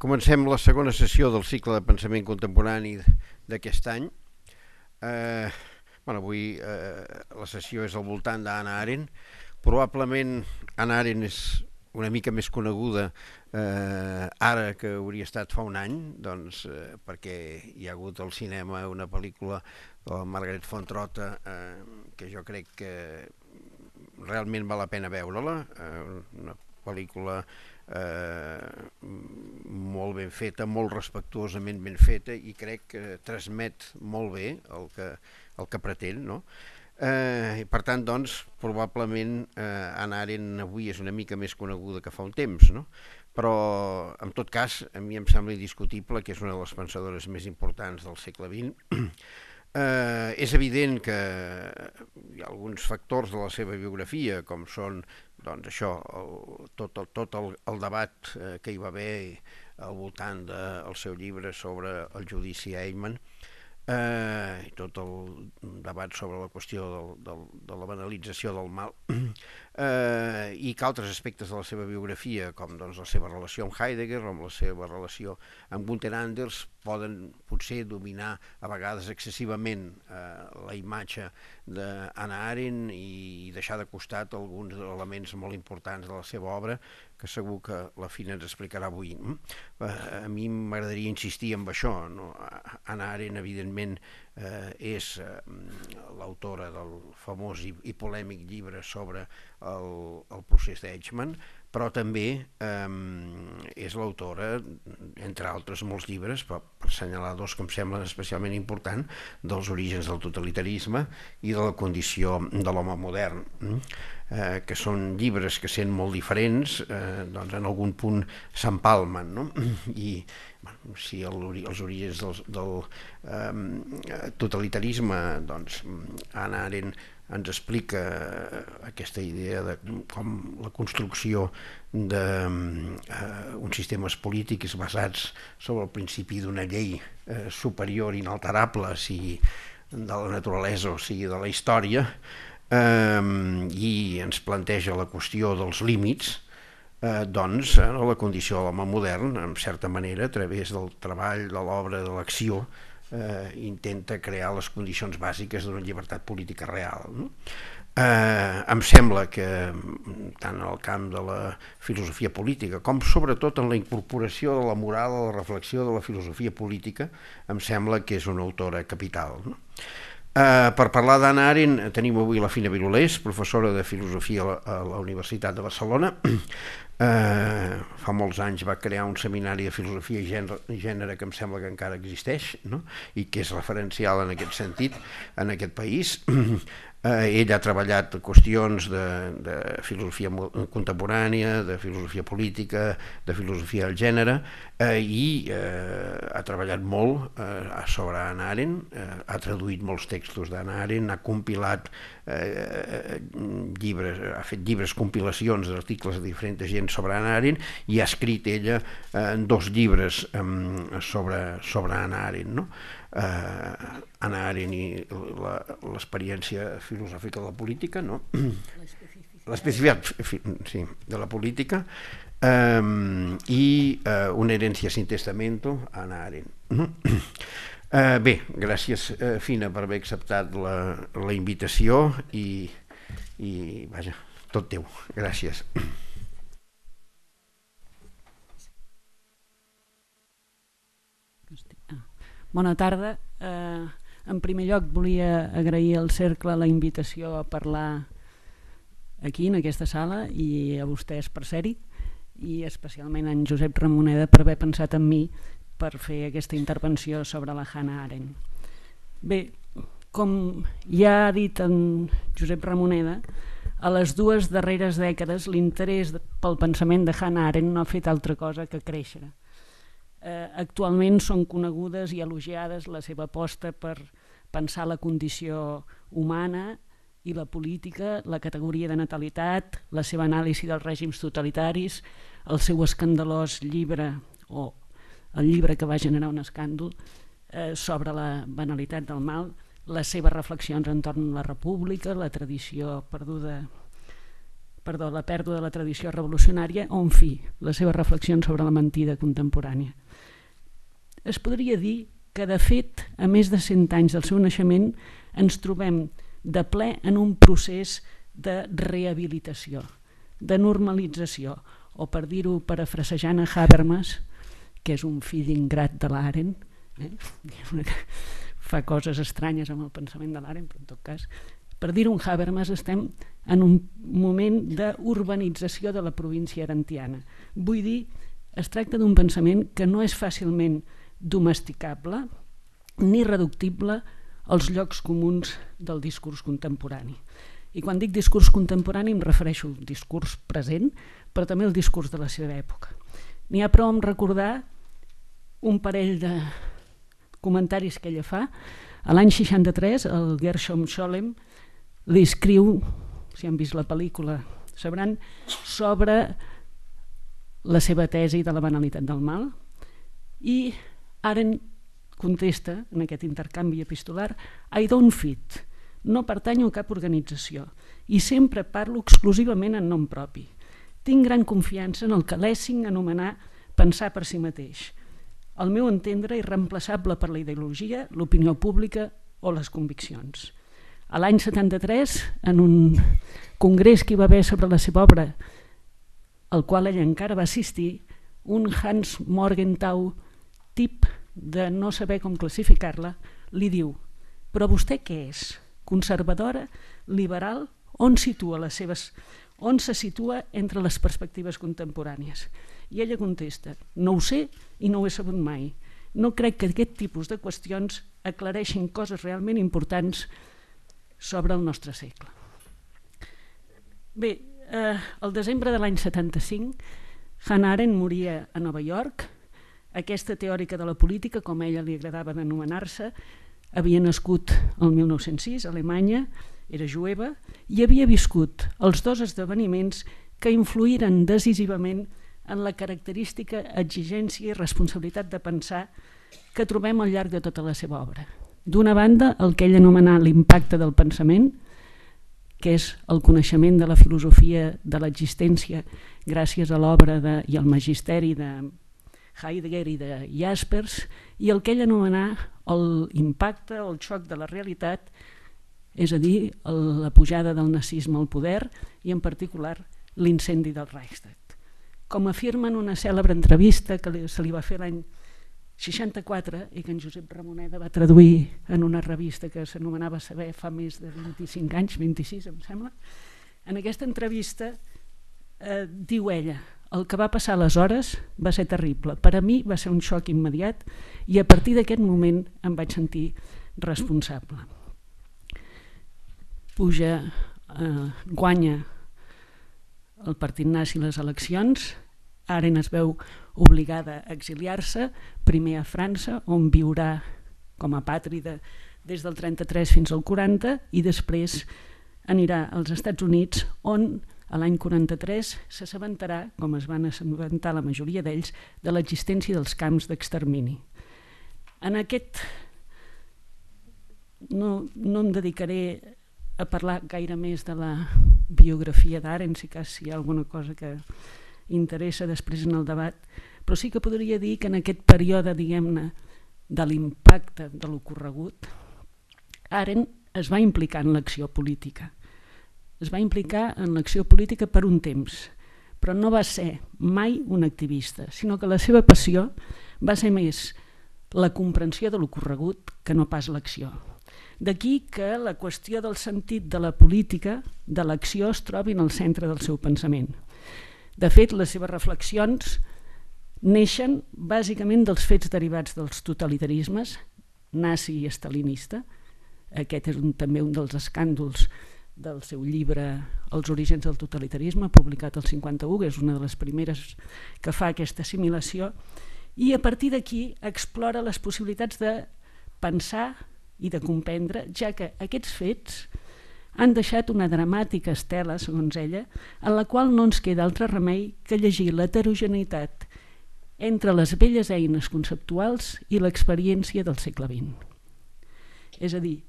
Comencem la segona sessió del cicle de pensament contemporani d'aquest any. Avui la sessió és al voltant d'Hannah Arendt. Probablement Hannah Arendt és una mica més coneguda ara que hauria estat fa un any, doncs, perquè hi ha hagut al cinema una pel·lícula de la Margaret Fontrota que jo crec que realment val la pena veure-la, una pel·lícula molt ben feta, molt respectuosament ben feta, i crec que transmet molt bé el que pretén, no? Per tant, doncs, probablement Hannah Arendt avui és una mica més coneguda que fa un temps, no? Però, en tot cas, a mi em sembla indiscutible que és una de les pensadores més importants del segle XX. És evident que hi ha alguns factors de la seva biografia, com són doncs això, tot el debat que hi va haver al voltant del seu llibre sobre el judici Eichmann, i tot el debat sobre la qüestió de la banalització del mal, i que altres aspectes de la seva biografia, com doncs la seva relació amb Heidegger o amb la seva relació amb Gunther Anders, poden potser dominar a vegades excessivament la imatge d'Hannah Arendt i deixar de costat alguns elements molt importants de la seva obra, que segur que la Fina ens explicarà avui. A mi m'agradaria insistir en això, no? Hannah Arendt, evidentment, és l'autora del famós i polèmic llibre sobre el procés d'Eichmann, però també és l'autora, entre altres molts llibres, per assenyalar dos que em semblen especialment importants, dels orígens del totalitarisme i de la condició de l'home modern, que són llibres que, sent molt diferents, doncs en algun punt s'empalmen, no? I si els orígens del totalitarisme, doncs Hannah Arendt ens explica aquesta idea de com la construcció d'uns sistemes polítics basats sobre el principi d'una llei superior inalterable, sigui de la naturalesa o sigui de la història, i ens planteja la qüestió dels límits, doncs la condició de l'home modern, en certa manera, a través del treball, de l'obra, de l'acció, intenta crear les condicions bàsiques d'una llibertat política real, no? Em sembla que tant en el camp de la filosofia política com sobretot en la incorporació de la moral a la reflexió de la filosofia política, em sembla que és una autora capital, no? Per parlar d'Hannah Arendt tenim avui la Fina Birulés, professora de filosofia a la Universitat de Barcelona. Fa molts anys va crear un seminari de filosofia i gènere que em sembla que encara existeix, no? I que és referencial en aquest sentit en aquest país. Ell ha treballat qüestions de filosofia contemporània, de filosofia política, de filosofia del gènere, i ha treballat molt sobre Hannah Arendt, ha traduït molts textos d'Hannah Arendt, ha compilat llibres, ha fet llibres, compilacions d'articles de diferents gent sobre Hannah Arendt, i ha escrit ella dos llibres sobre Hannah Arendt, no? Hannah Arendt i l'experiència filosòfica de la política, no? L'especificitat, sí, de la política, i una herència sin testamento, Hannah Arendt. Bé, gràcies, Fina, per haver acceptat la invitació i vaja, tot teu. Gràcies. Bona tarda. En primer lloc volia agrair al Cercle la invitació a parlar aquí, en aquesta sala, i a vostès per ser-hi, i especialment a en Josep Ramoneda per haver pensat en mi per fer aquesta intervenció sobre la Hannah Arendt. Bé, com ja ha dit en Josep Ramoneda, a les dues darreres dècades l'interès pel pensament de Hannah Arendt no ha fet altra cosa que créixer. Actualment són conegudes i elogiades la seva aposta per pensar la condició humana i la política, la categoria de natalitat, la seva anàlisi dels règims totalitaris, el seu escandalós llibre, o el llibre que va generar un escàndol sobre la banalitat del mal, les seves reflexions entorn a la república, la tradició perduda la pèrdua de la tradició revolucionària o, en fi, les seves reflexions sobre la mentida contemporània. Es podria dir que, de fet, a més de 100 anys del seu naixement, ens trobem de ple en un procés de rehabilitació, de normalització, o per dir-ho parafrasejant a Habermas, que és un fill ingrat de l'Arendt, fa coses estranyes amb el pensament de l'Arendt, però en tot cas, per dir-ho en Habermas, estem en un moment d'urbanització de la província arendtiana. Vull dir, es tracta d'un pensament que no és fàcilment domesticable ni reductible als llocs comuns del discurs contemporani. I quan dic discurs contemporani em refereixo al discurs present, però també al discurs de la seva època. N'hi ha prou amb recordar un parell de comentaris que ella fa. A l'any 63, el Gershom Scholem li escriu, si han vist la pel·lícula sabran, sobre la seva tesi de la banalitat del mal, i Arendt contesta en aquest intercanvi epistolar: I don't fit, no pertanyo a cap organització i sempre parlo exclusivament en nom propi. Tinc gran confiança en el que Lessing anomenà pensar per si mateix. Al meu entendre, irreemplaçable per la ideologia, l'opinió pública o les conviccions. A l'any 73, en un congrés que hi va haver sobre la seva obra, al qual ella encara va assistir, un Hans Morgenthau, tip de no saber com classificar-la, li diu: però vostè què és? Conservadora? Liberal? On se situa entre les perspectives contemporànies? I ella contesta: no ho sé i no ho he sabut mai. No crec que aquest tipus de qüestions aclareixin coses realment importants sobre el nostre segle. Bé, el desembre de l'any 75, Hannah Arendt moria a Nova York. Aquesta teòrica de la política, com a ella li agradava d'anomenar-se, havia nascut el 1906 a Alemanya, era jueva, i havia viscut els dos esdeveniments que influïren decisivament en la característica exigència i responsabilitat de pensar que trobem al llarg de tota la seva obra. D'una banda, el que ell anomenà l'impacte del pensament, que és el coneixement de la filosofia de l'existència gràcies a l'obra i al magisteri de Heidegger i de Jaspers, i el que ell anomenà l'impacte o el xoc de la realitat, és a dir, la pujada del nazisme al poder i en particular l'incendi del Reichstag. Com afirma en una cèlebre entrevista que se li va fer l'any 64 i que en Josep Ramoneda va traduir en una revista que s'anomenava Saber fa més de 25 anys, 26 em sembla, en aquesta entrevista diu ella: el que va passar aleshores va ser terrible. Per a mi va ser un xoc immediat i a partir d'aquest moment em vaig sentir responsable. Guanya el partit nazi les eleccions. Arendt es veu obligada a exiliar-se, primer a França, on viurà com a apàtrida des del 33 fins al 40, i després anirà als Estats Units, on a l'any 43 s'assabentarà, com es van assabentar la majoria d'ells, de l'existència dels camps d'extermini. En aquest no em dedicaré a parlar gaire més de la biografia d'Arendt, si hi ha alguna cosa que interessa després en el debat, però sí que podria dir que en aquest període, diguem-ne, de l'impacte de l'ocorregut, Arendt es va implicar en l'acció política. Es va implicar en l'acció política per un temps, però no va ser mai un activista, sinó que la seva passió va ser més la comprensió de l'ocorregut que no pas l'acció. D'aquí que la qüestió del sentit de la política, de l'acció, es trobi en el centre del seu pensament. De fet, les seves reflexions neixen bàsicament dels fets derivats dels totalitarismes, nazi i estalinista. Aquest és també un dels escàndols del seu llibre Els orígens del totalitarisme, publicat el 51, que és una de les primeres que fa aquesta assimilació, i a partir d'aquí explora les possibilitats de pensar i de comprendre, ja que aquests fets han deixat una dramàtica estela, segons ella, en la qual no ens queda altre remei que llegir l'heterogeneïtat entre les velles eines conceptuals i l'experiència del segle XX. És a dir,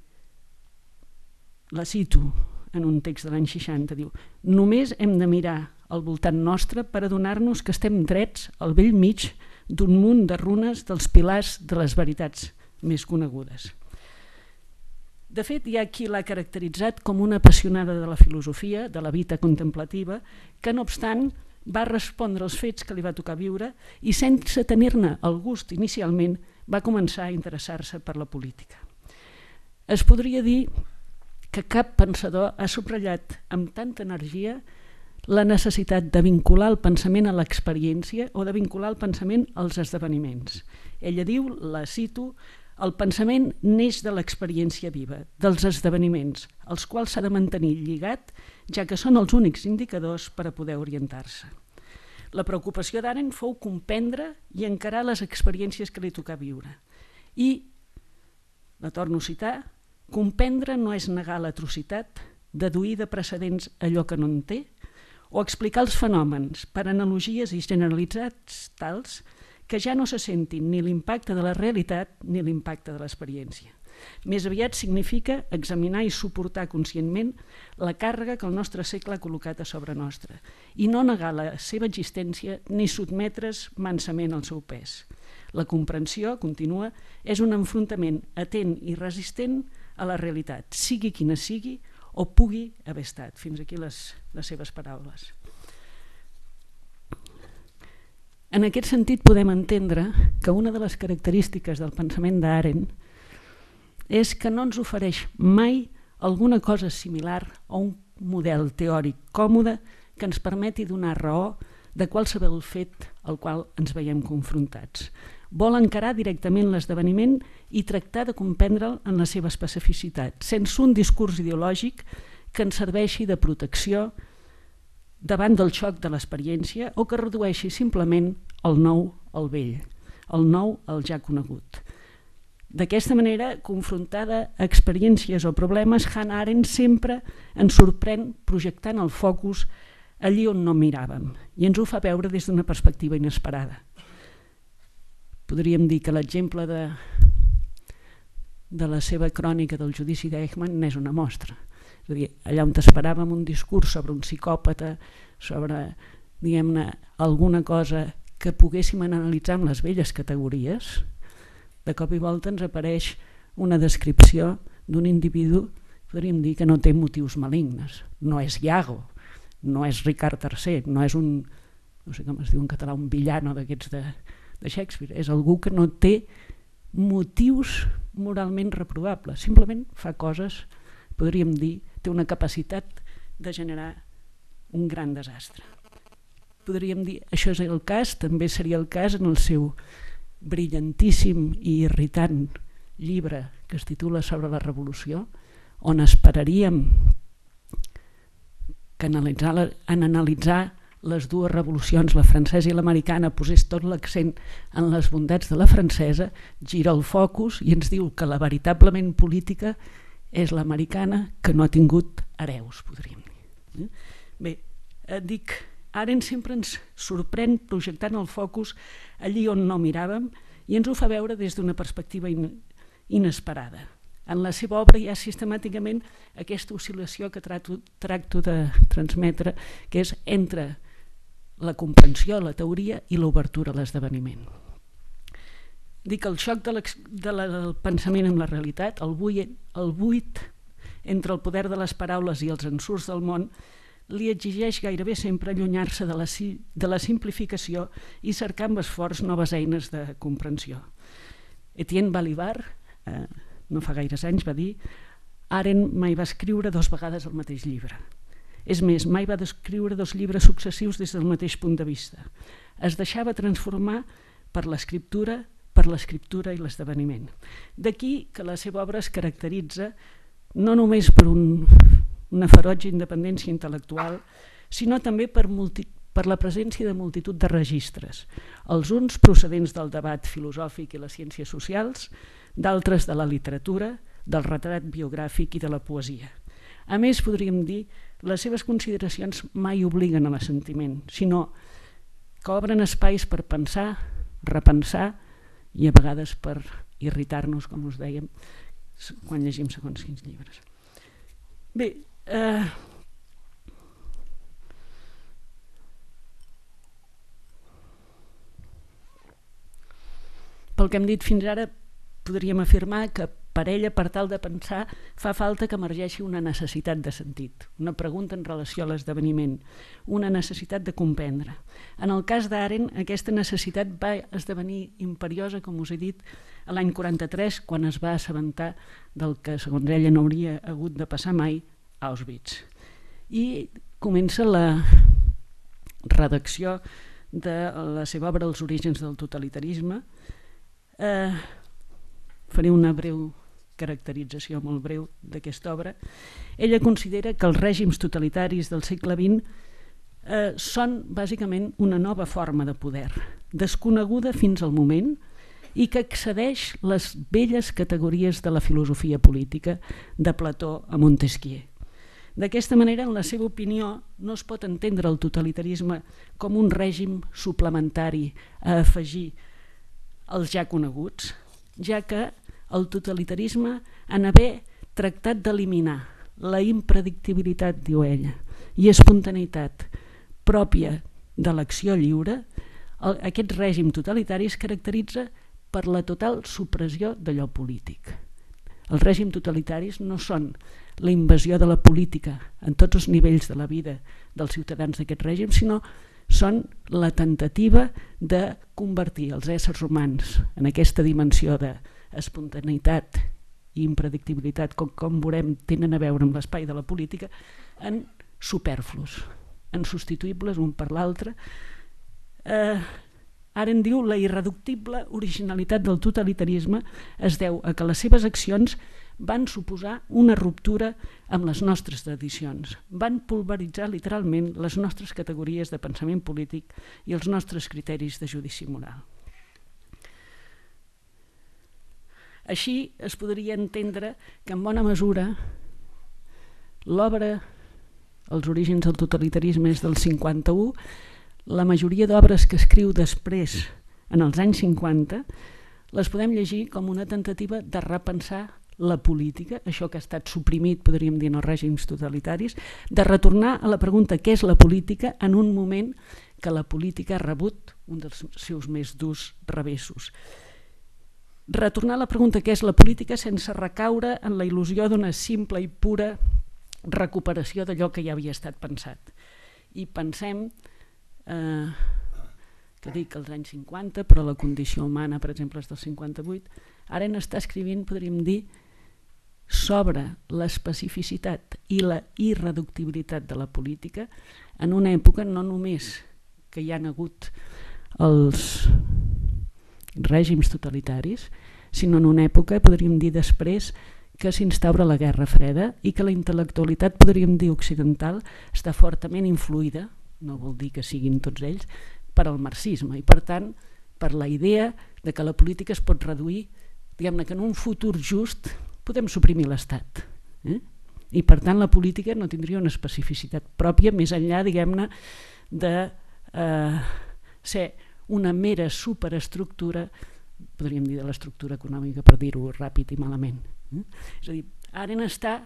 la cito, en un text de l'any 60, diu: només hem de mirar al voltant nostre per adonar-nos que estem drets al vell mig d'un munt de runes dels pilars de les veritats més conegudes. De fet, hi ha qui l'ha caracteritzat com una apassionada de la filosofia, de la vida contemplativa, que no obstant va respondre als fets que li va tocar viure i sense tenir-ne el gust inicialment va començar a interessar-se per la política. Es podria dir que cap pensador ha subratllat amb tanta energia la necessitat de vincular el pensament a l'experiència o de vincular el pensament als esdeveniments. Ella diu, la cito: el pensament neix de l'experiència viva, dels esdeveniments, als quals s'ha de mantenir lligat, ja que són els únics indicadors per a poder orientar-se. La preocupació d'Arendt fou comprendre i encarar les experiències que li tocà viure. I, la torno a citar, comprendre no és negar l'atrocitat, deduir de precedents allò que no en té, o explicar els fenòmens per analogies i generalitzats tals que ja no se sentin ni l'impacte de la realitat ni l'impacte de l'experiència. Més aviat significa examinar i suportar conscientment la càrrega que el nostre segle ha col·locat a sobre nostre i no negar la seva existència ni sotmetre's mansament al seu pes. La comprensió, continua, és un enfrontament atent i resistent a la realitat, sigui quina sigui o pugui haver estat. Fins aquí les seves paraules. En aquest sentit podem entendre que una de les característiques del pensament d'Arendt és que no ens ofereix mai alguna cosa similar a un model teòric còmode que ens permeti donar raó de qualsevol fet al qual ens veiem confrontats. Vol encarar directament l'esdeveniment i tractar de comprendre'l en la seva especificitat, sense un discurs ideològic que ens serveixi de protecció davant del xoc de l'experiència o que redueixi simplement el nou al vell, el nou al ja conegut. D'aquesta manera, confrontada a experiències o problemes, Hannah Arendt sempre ens sorprèn projectant el focus allí on no miràvem i ens ho fa veure des d'una perspectiva inesperada. Podríem dir que l'exemple de la seva crònica del judici d'Eichmann n'és una mostra. És a dir, allà on esperàvem un discurs sobre un psicòpata, sobre, diguem-ne, alguna cosa que poguéssim analitzar amb les velles categories, de cop i volta ens apareix una descripció d'un individu, podríem dir que no té motius malignes. No és Iago, no és Ricard III, no és un, no sé com es diu en català, un villano d'aquests de Shakespeare. És algú que no té motius moralment reprovables, simplement fa coses, podríem dir, té una capacitat de generar un gran desastre. Podríem dir, això és el cas, també seria el cas en el seu brillantíssim i irritant llibre que es titula Sobre la Revolució, on esperaríem que en analitzar les dues revolucions, la francesa i l'americana, posés tot l'accent en les bondats de la francesa, gira el focus i ens diu que la veritablement política és l'americana, que no ha tingut hereus, podríem dir. Bé, dic, Arendt sempre ens sorprèn projectant el focus allí on no miràvem i ens ho fa veure des d'una perspectiva inesperada. En la seva obra hi ha sistemàticament aquesta oscil·lació que tracto de transmetre, que és entre la comprensió, la teoria i l'obertura a l'esdeveniment. Dic, el xoc del pensament amb la realitat, el buit entre el poder de les paraules i els ensurts del món, li exigeix gairebé sempre allunyar-se de la simplificació i cercar amb esforç noves eines de comprensió. Etienne Balibar, no fa gaires anys, va dir: Arendt mai va escriure 2 vegades el mateix llibre. És més, mai va descriure 2 llibres successius des del mateix punt de vista. Es deixava transformar per l'escriptura i l'esdeveniment. D'aquí que la seva obra es caracteritza no només per una ferotge independència intel·lectual, sinó també per la presència de multitud de registres, els uns procedents del debat filosòfic i les ciències socials, d'altres de la literatura, del retrat biogràfic i de la poesia. A més, podríem dir, les seves consideracions mai obliguen a l'assentiment, sinó que obren espais per pensar, repensar i a vegades per irritar-nos, com us dèiem, quan llegim segons quins llibres. Bé, Pel que hem dit fins ara, podríem afirmar que per ella, per tal de pensar, fa falta que emergeixi una necessitat de sentit, una pregunta en relació a l'esdeveniment, una necessitat de comprendre. En el cas d'Arendt, aquesta necessitat va esdevenir imperiosa, com us he dit, a l'any 43, quan es va assabentar del que, segons ella, no hauria hagut de passar mai, a Auschwitz. I comença la redacció de la seva obra Els orígens del totalitarisme. Faré una breu caracterització molt breu d'aquesta obra. Ella considera que els règims totalitaris del segle XX són bàsicament una nova forma de poder, desconeguda fins al moment i que excedeix les velles categories de la filosofia política de Plató a Montesquieu. D'aquesta manera, en la seva opinió, no es pot entendre el totalitarisme com un règim suplementari a afegir als ja coneguts, ja que el totalitarisme, en haver tractat d'eliminar la impredictibilitat, diu ella, i espontaneïtat pròpia de l'acció lliure, aquest règim totalitari es caracteritza per la total supressió d'allò polític. Els règims totalitaris no són la invasió de la política en tots els nivells de la vida dels ciutadans d'aquest règim, sinó són la tentativa de convertir els éssers humans en aquesta dimensió d'espontaneïtat i impredictibilitat, com veurem, tenen a veure amb l'espai de la política, en superflus, en substituïbles un per l'altre. Arendt diu la irreductible originalitat del totalitarisme es deu a que les seves accions van suposar una ruptura amb les nostres tradicions, van pulveritzar literalment les nostres categories de pensament polític i els nostres criteris de judici moral. Així es podria entendre que en bona mesura l'obra Els orígens del totalitarisme és del 51, la majoria d'obres que escriu després, en els anys 50, les podem llegir com una tentativa de repensar la política, això que ha estat suprimit, podríem dir, en els règims totalitaris, de retornar a la pregunta què és la política en un moment que la política ha rebut un dels seus més durs revessos. Retornar a la pregunta què és la política sense recaure en la il·lusió d'una simple i pura recuperació d'allò que ja havia estat pensat. I pensem que dic els anys 50, però la condició humana, per exemple, és del 58, ara n'està escrivint, podríem dir, sobre l'especificitat i la irreductibilitat de la política en una època no només que hi han hagut els règims totalitaris, sinó en una època, podríem dir després, que s'instaura la Guerra Freda i que la intel·lectualitat, podríem dir, occidental, està fortament influïda, no vol dir que siguin tots ells, per al marxisme i, per tant, per la idea de que la política es pot reduir, diguem-ne que en un futur just podem suprimir l'Estat. I, per tant, la política no tindria una especificitat pròpia més enllà, diguem-ne, de ser una mera superestructura, podríem dir de l'estructura econòmica, per dir-ho ràpid i malament. És a dir, Arendt està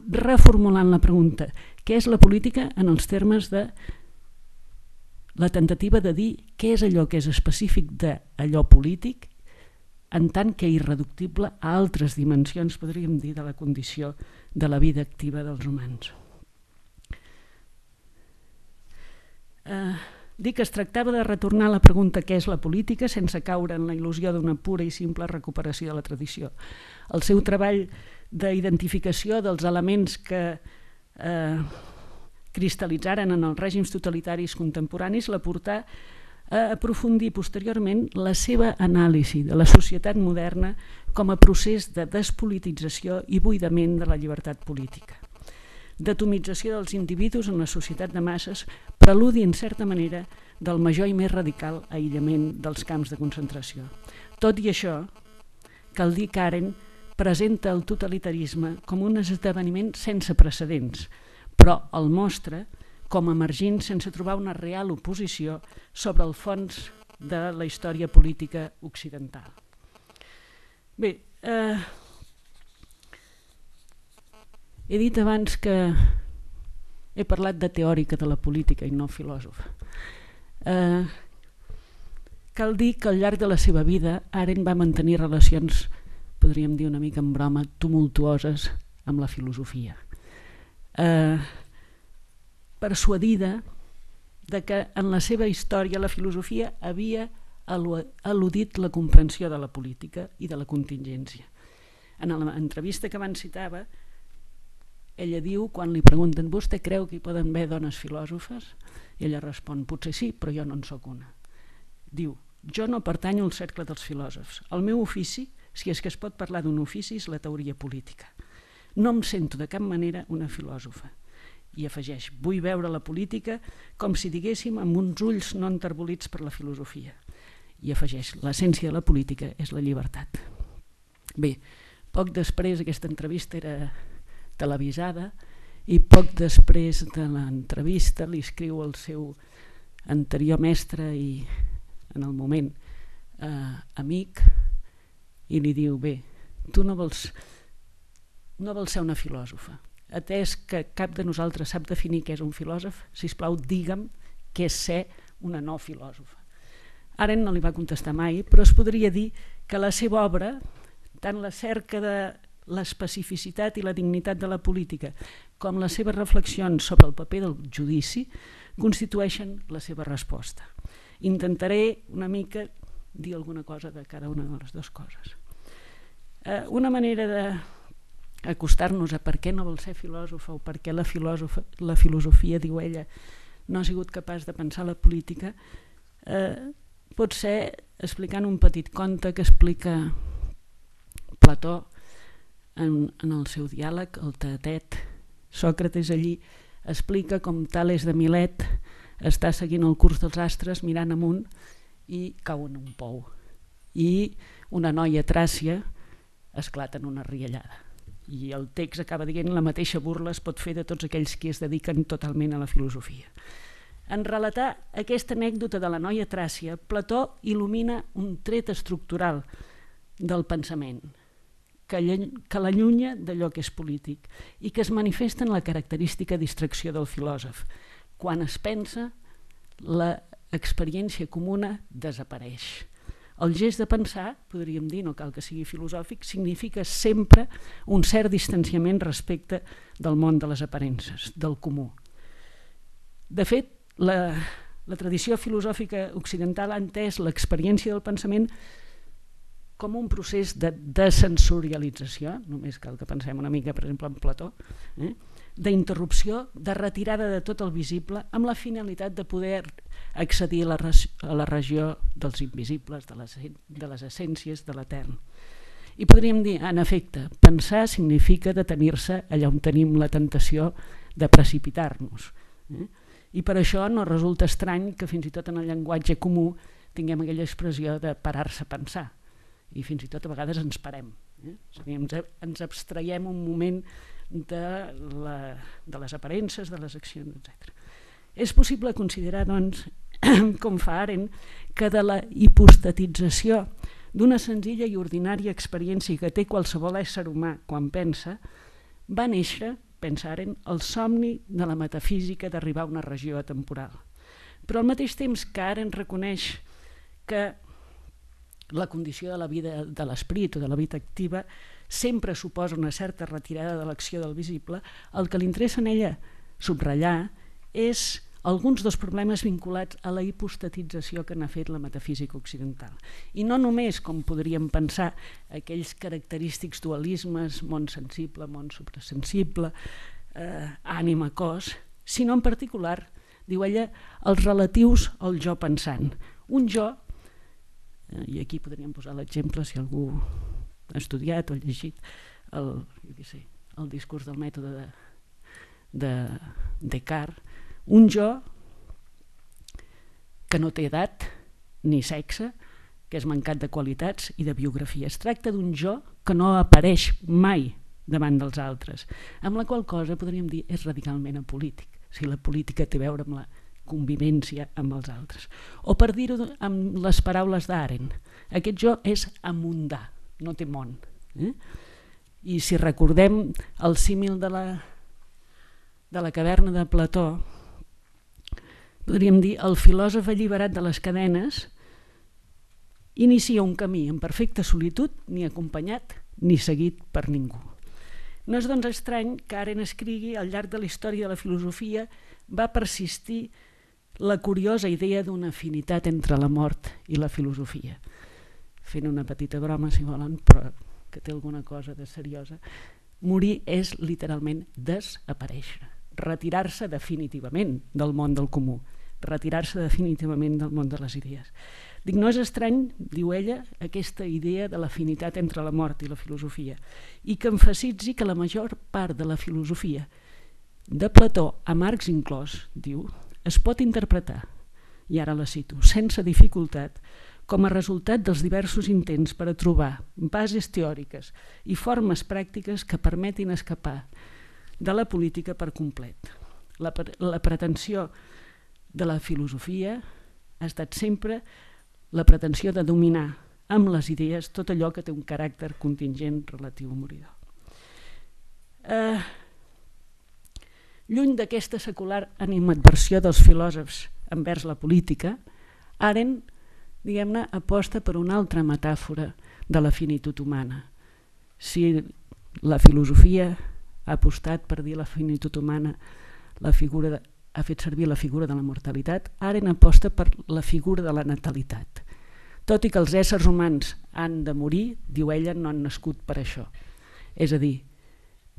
reformulant la pregunta què és la política en els termes de la tentativa de dir què és allò que és específic d'allò polític en tant que irreductible a altres dimensions, podríem dir, de la condició de la vida activa dels humans. Dic que es tractava de retornar a la pregunta què és la política sense caure en la il·lusió d'una pura i simple recuperació de la tradició. El seu treball d'identificació dels elements que cristal·litzaren en els règims totalitaris contemporanis la portà a aprofundir posteriorment la seva anàlisi de la societat moderna com a procés de despolitització i buidament de la llibertat política, d'atomització dels individus en la societat de masses, preludi en certa manera del major i més radical aïllament dels camps de concentració. Tot i això, cal dir que Arendt presenta el totalitarisme com un esdeveniment sense precedents, però el mostra com emergint sense trobar una real oposició sobre el fons de la història política occidental. Bé, He dit abans que he parlat de teòrica de la política i no filòsofa. Cal dir que al llarg de la seva vida Arendt va mantenir relacions, podríem dir una mica en broma, tumultuoses amb la filosofia. Persuadida de que en la seva història la filosofia havia al·ludit la comprensió de la política i de la contingència. En l'entrevista que abans citava, ella diu, quan li pregunten vostè creu que hi poden haver dones filòsofes? I ella respon, potser sí, però jo no en sóc una. Diu, jo no pertanyo al cercle dels filòsofs. El meu ofici, si és que es pot parlar d'un ofici, és la teoria política. No em sento de cap manera una filòsofa. I afegeix, vull veure la política com si diguéssim amb uns ulls no enterbolits per la filosofia. I afegeix, l'essència de la política és la llibertat. Bé, poc després aquesta entrevista era televisada i poc després de l'entrevista li escriu el seu anterior mestre i en el moment amic i li diu, bé, tu no vols ser una filòsofa. Atès que cap de nosaltres sap definir què és un filòsof, sisplau, digue'm què és ser una no filòsofa. Arendt no li va contestar mai, però es podria dir que la seva obra, tant la cerca de l'especificitat i la dignitat de la política com les seves reflexions sobre el paper del judici constitueixen la seva resposta. Intentaré una mica dir alguna cosa de cada una de les dues coses. Una manera d'acostar-nos a per què no vol ser filòsofa o per què la filosofia, diu ella, no ha sigut capaç de pensar la política, pot ser explicant un petit conte que explica Plató en el seu diàleg, el Teetet. Sòcrates allí explica com Tales de Milet està seguint el curs dels astres mirant amunt i cau en un pou. I una noia tràcia esclata en una riallada. I el text acaba dient la mateixa burla es pot fer de tots aquells que es dediquen totalment a la filosofia. En relatar aquesta anècdota de la noia tràcia, Plató il·lumina un tret estructural del pensament que l'allunya d'allò que és polític i que es manifesta en la característica distracció del filòsof. Quan es pensa, l'experiència comuna desapareix. El gest de pensar, podríem dir, no cal que sigui filosòfic, significa sempre un cert distanciament respecte del món de les aparences, del comú. De fet, la tradició filosòfica occidental ha entès l'experiència del pensament com un procés de desensorialització, només cal que pensem una mica, per exemple, en Plató, d'interrupció, de retirada de tot el visible, amb la finalitat de poder accedir a la regió dels invisibles, de les essències, de l'etern. I podríem dir, en efecte, pensar significa detenir-se allà on tenim la tentació de precipitar-nos. I per això no resulta estrany que fins i tot en el llenguatge comú tinguem aquella expressió de parar-se a pensar. I fins i tot a vegades ens parem. És a dir, ens abstraiem un moment de les aparences, de les accions, etc. És possible considerar, doncs, com fa Arendt, que de la hipostatització d'una senzilla i ordinària experiència que té qualsevol ésser humà quan pensa, va néixer, pensa Arendt, el somni de la metafísica d'arribar a una regió atemporal. Però al mateix temps que Arendt reconeix que la condició de la vida de l'esperit o de la vida activa sempre suposa una certa retirada de l'acció del visible, el que li interessa en ella subratllar és alguns dels problemes vinculats a la hipostatització que n'ha fet la metafísica occidental. I no només, com podríem pensar, aquells característics dualismes, món sensible, món suprasensible, ànima, cos, sinó en particular, diu ella, els relatius al jo pensant. Un jo, i aquí podríem posar l'exemple si algú ha estudiat o ha llegit el discurs del mètode de Descartes, un jo que no té edat ni sexe, que és mancat de qualitats i de biografia. Es tracta d'un jo que no apareix mai davant dels altres, amb la qual cosa podríem dir és radicalment apolític, si la política té a veure amb la convivència amb els altres. O per dir-ho amb les paraules d'Arendt, aquest jo és amundà, no té món. I si recordem el símil de la caverna de Plató, podríem dir el filòsof alliberat de les cadenes inicia un camí en perfecta solitud, ni acompanyat ni seguit per ningú. No és doncs estrany que Arendt escrigui al llarg de la història de la filosofia va persistir la curiosa idea d'una afinitat entre la mort i la filosofia. Fent una petita broma, si volen, però que té alguna cosa de seriosa. Morir és literalment desaparèixer, retirar-se definitivament del món del comú, retirar-se definitivament del món de les idees. Dic, no és estrany, diu ella, aquesta idea de l'afinitat entre la mort i la filosofia, i que emfasitzi que la major part de la filosofia de Plató, a Marx inclòs, diu, es pot interpretar, i ara la cito, sense dificultat, com a resultat dels diversos intents per a trobar bases teòriques i formes pràctiques que permetin escapar de la política per complet. La pretensió de la filosofia ha estat sempre la pretensió de dominar amb les idees tot allò que té un caràcter contingent relatiu o moridor. Lluny d'aquesta secular animadversió dels filòsofs envers la política, Arendt, diguem-ne, aposta per una altra metàfora de la finitud humana. Si la filosofia ha apostat per dir la finitud humana, ha fet servir la figura de la mortalitat, Arendt aposta per la figura de la natalitat. Tot i que els éssers humans han de morir, diu ella, no han nascut per això. És a dir,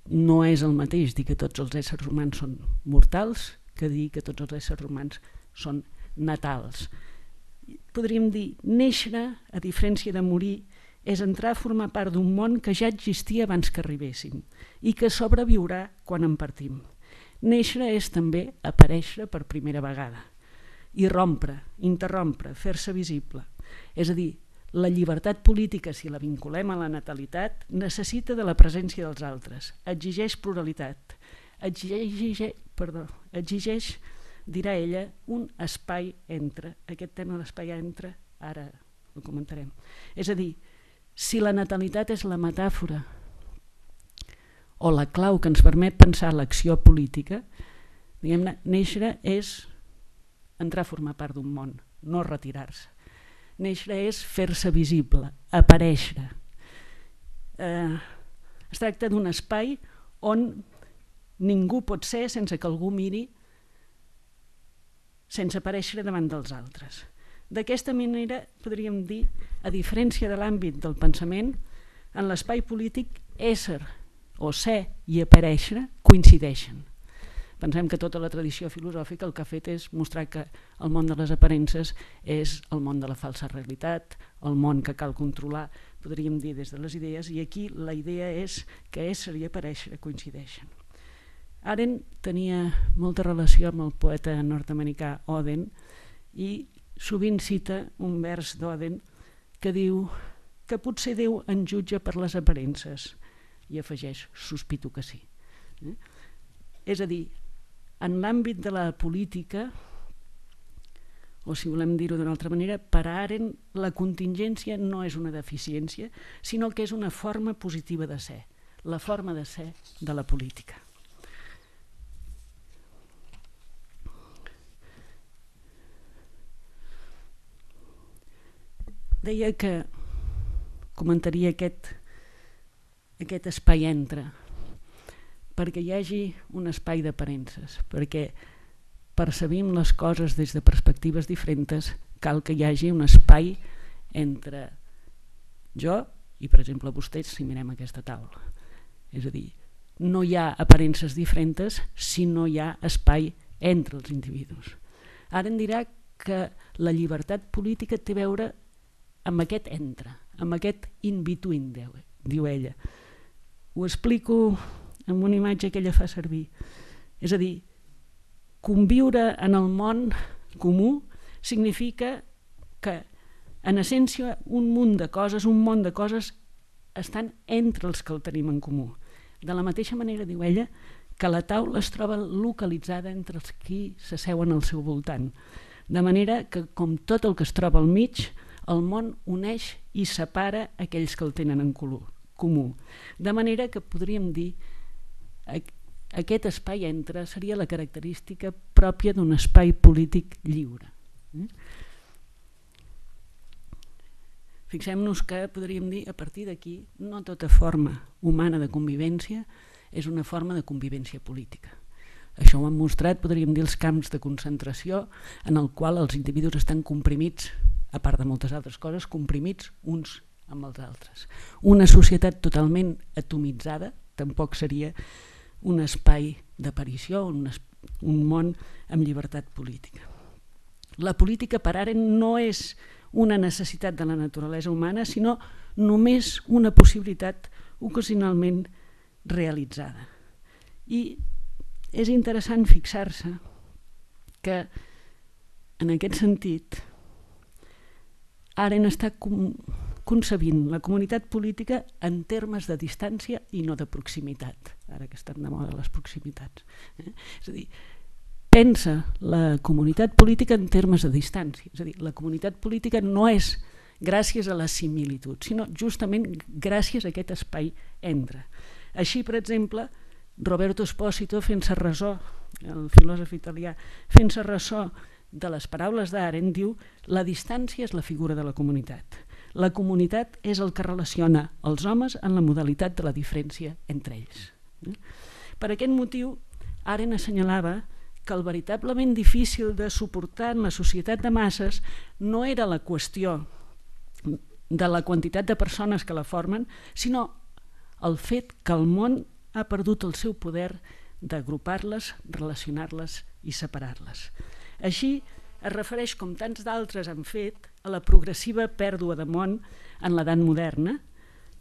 no és el mateix dir que tots els éssers humans són mortals que dir que tots els éssers humans són natals. Podríem dir, néixer, a diferència de morir, és entrar a formar part d'un món que ja existia abans que arribéssim i que sobreviurà quan en partim. Néixer és també aparèixer per primera vegada, irrompre, interrompre, fer-se visible. És a dir, la llibertat política, si la vinculem a la natalitat, necessita de la presència dels altres, exigeix pluralitat, exigeix, dirà ella, un espai entre. Aquest tema de l'espai entre, ara ho comentarem. És a dir, si la natalitat és la metàfora o la clau que ens permet pensar l'acció política, diguem-ne, néixer és entrar a formar part d'un món, no retirar-se. Néixer és fer-se visible, aparèixer. Es tracta d'un espai on ningú pot ser sense que algú miri, sense aparèixer davant dels altres. D'aquesta manera, podríem dir, a diferència de l'àmbit del pensament, en l'espai polític, ésser o ser i aparèixer coincideixen. Pensem que tota la tradició filosòfica el que ha fet és mostrar que el món de les aparences és el món de la falsa realitat, el món que cal controlar, podríem dir des de les idees, i aquí la idea és que ésser i aparèixer coincideixen. Arendt tenia molta relació amb el poeta nord-americà Oden i sovint cita un vers d'Oden que diu que potser Déu ens jutja per les aparences, i afegeix, sospito que sí. És a dir, en l'àmbit de la política, o si volem dir-ho d'una altra manera, per a Arendt la contingència no és una deficiència, sinó que és una forma positiva de ser, la forma de ser de la política. Deia que comentaria aquest espai entre, perquè hi hagi un espai d'aparences, perquè percebim les coses des de perspectives diferents, cal que hi hagi un espai entre jo i, per exemple, vostès, si mirem aquesta taula. És a dir, no hi ha aparences diferents si no hi ha espai entre els individus. Ara em dirà que la llibertat política té a veure amb aquest entre, amb aquest in-between, diu ella. Ho explico amb una imatge que ella fa servir. És a dir, conviure en el món comú significa que, en essència, un món de coses estan entre els que el tenim en comú. De la mateixa manera, diu ella, que la taula es troba localitzada entre els qui s'asseuen al seu voltant. De manera que, com tot el que es troba al mig, el món uneix i separa aquells que el tenen en comú. comú. De manera que podríem dir aquest espai entre seria la característica pròpia d'un espai polític lliure. Fixem-nos que podríem dir, a partir d'aquí, no tota forma humana de convivència és una forma de convivència política. Això ho han mostrat, podríem dir, els camps de concentració en el qual els individus estan comprimits, a part de moltes altres coses, comprimits uns amb els altres. Una societat totalment atomitzada tampoc seria un espai d'aparició, un món amb llibertat política. La política per Arendt no és una necessitat de la naturalesa humana, sinó només una possibilitat ocasionalment realitzada. I és interessant fixar-se que en aquest sentit Arendt està concebint la comunitat política en termes de distància i no de proximitat, ara que estan de moda les proximitats. És a dir, pensa la comunitat política en termes de distància, és a dir, la comunitat política no és gràcies a la similitud, sinó justament gràcies a aquest espai entre. Així, per exemple, Roberto Espósito, fent-se ressò, el filòsof italià, fent-se ressò de les paraules d'Arendt, diu: la distància és la figura de la comunitat. La comunitat és el que relaciona els homes en la modalitat de la diferència entre ells. Per aquest motiu, Arendt assenyalava que el veritablement difícil de suportar en la societat de masses no era la qüestió de la quantitat de persones que la formen, sinó el fet que el món ha perdut el seu poder d'agrupar-les, relacionar-les i separar-les. Així es refereix, com tants d'altres han fet, a la progressiva pèrdua de món en l'edat moderna,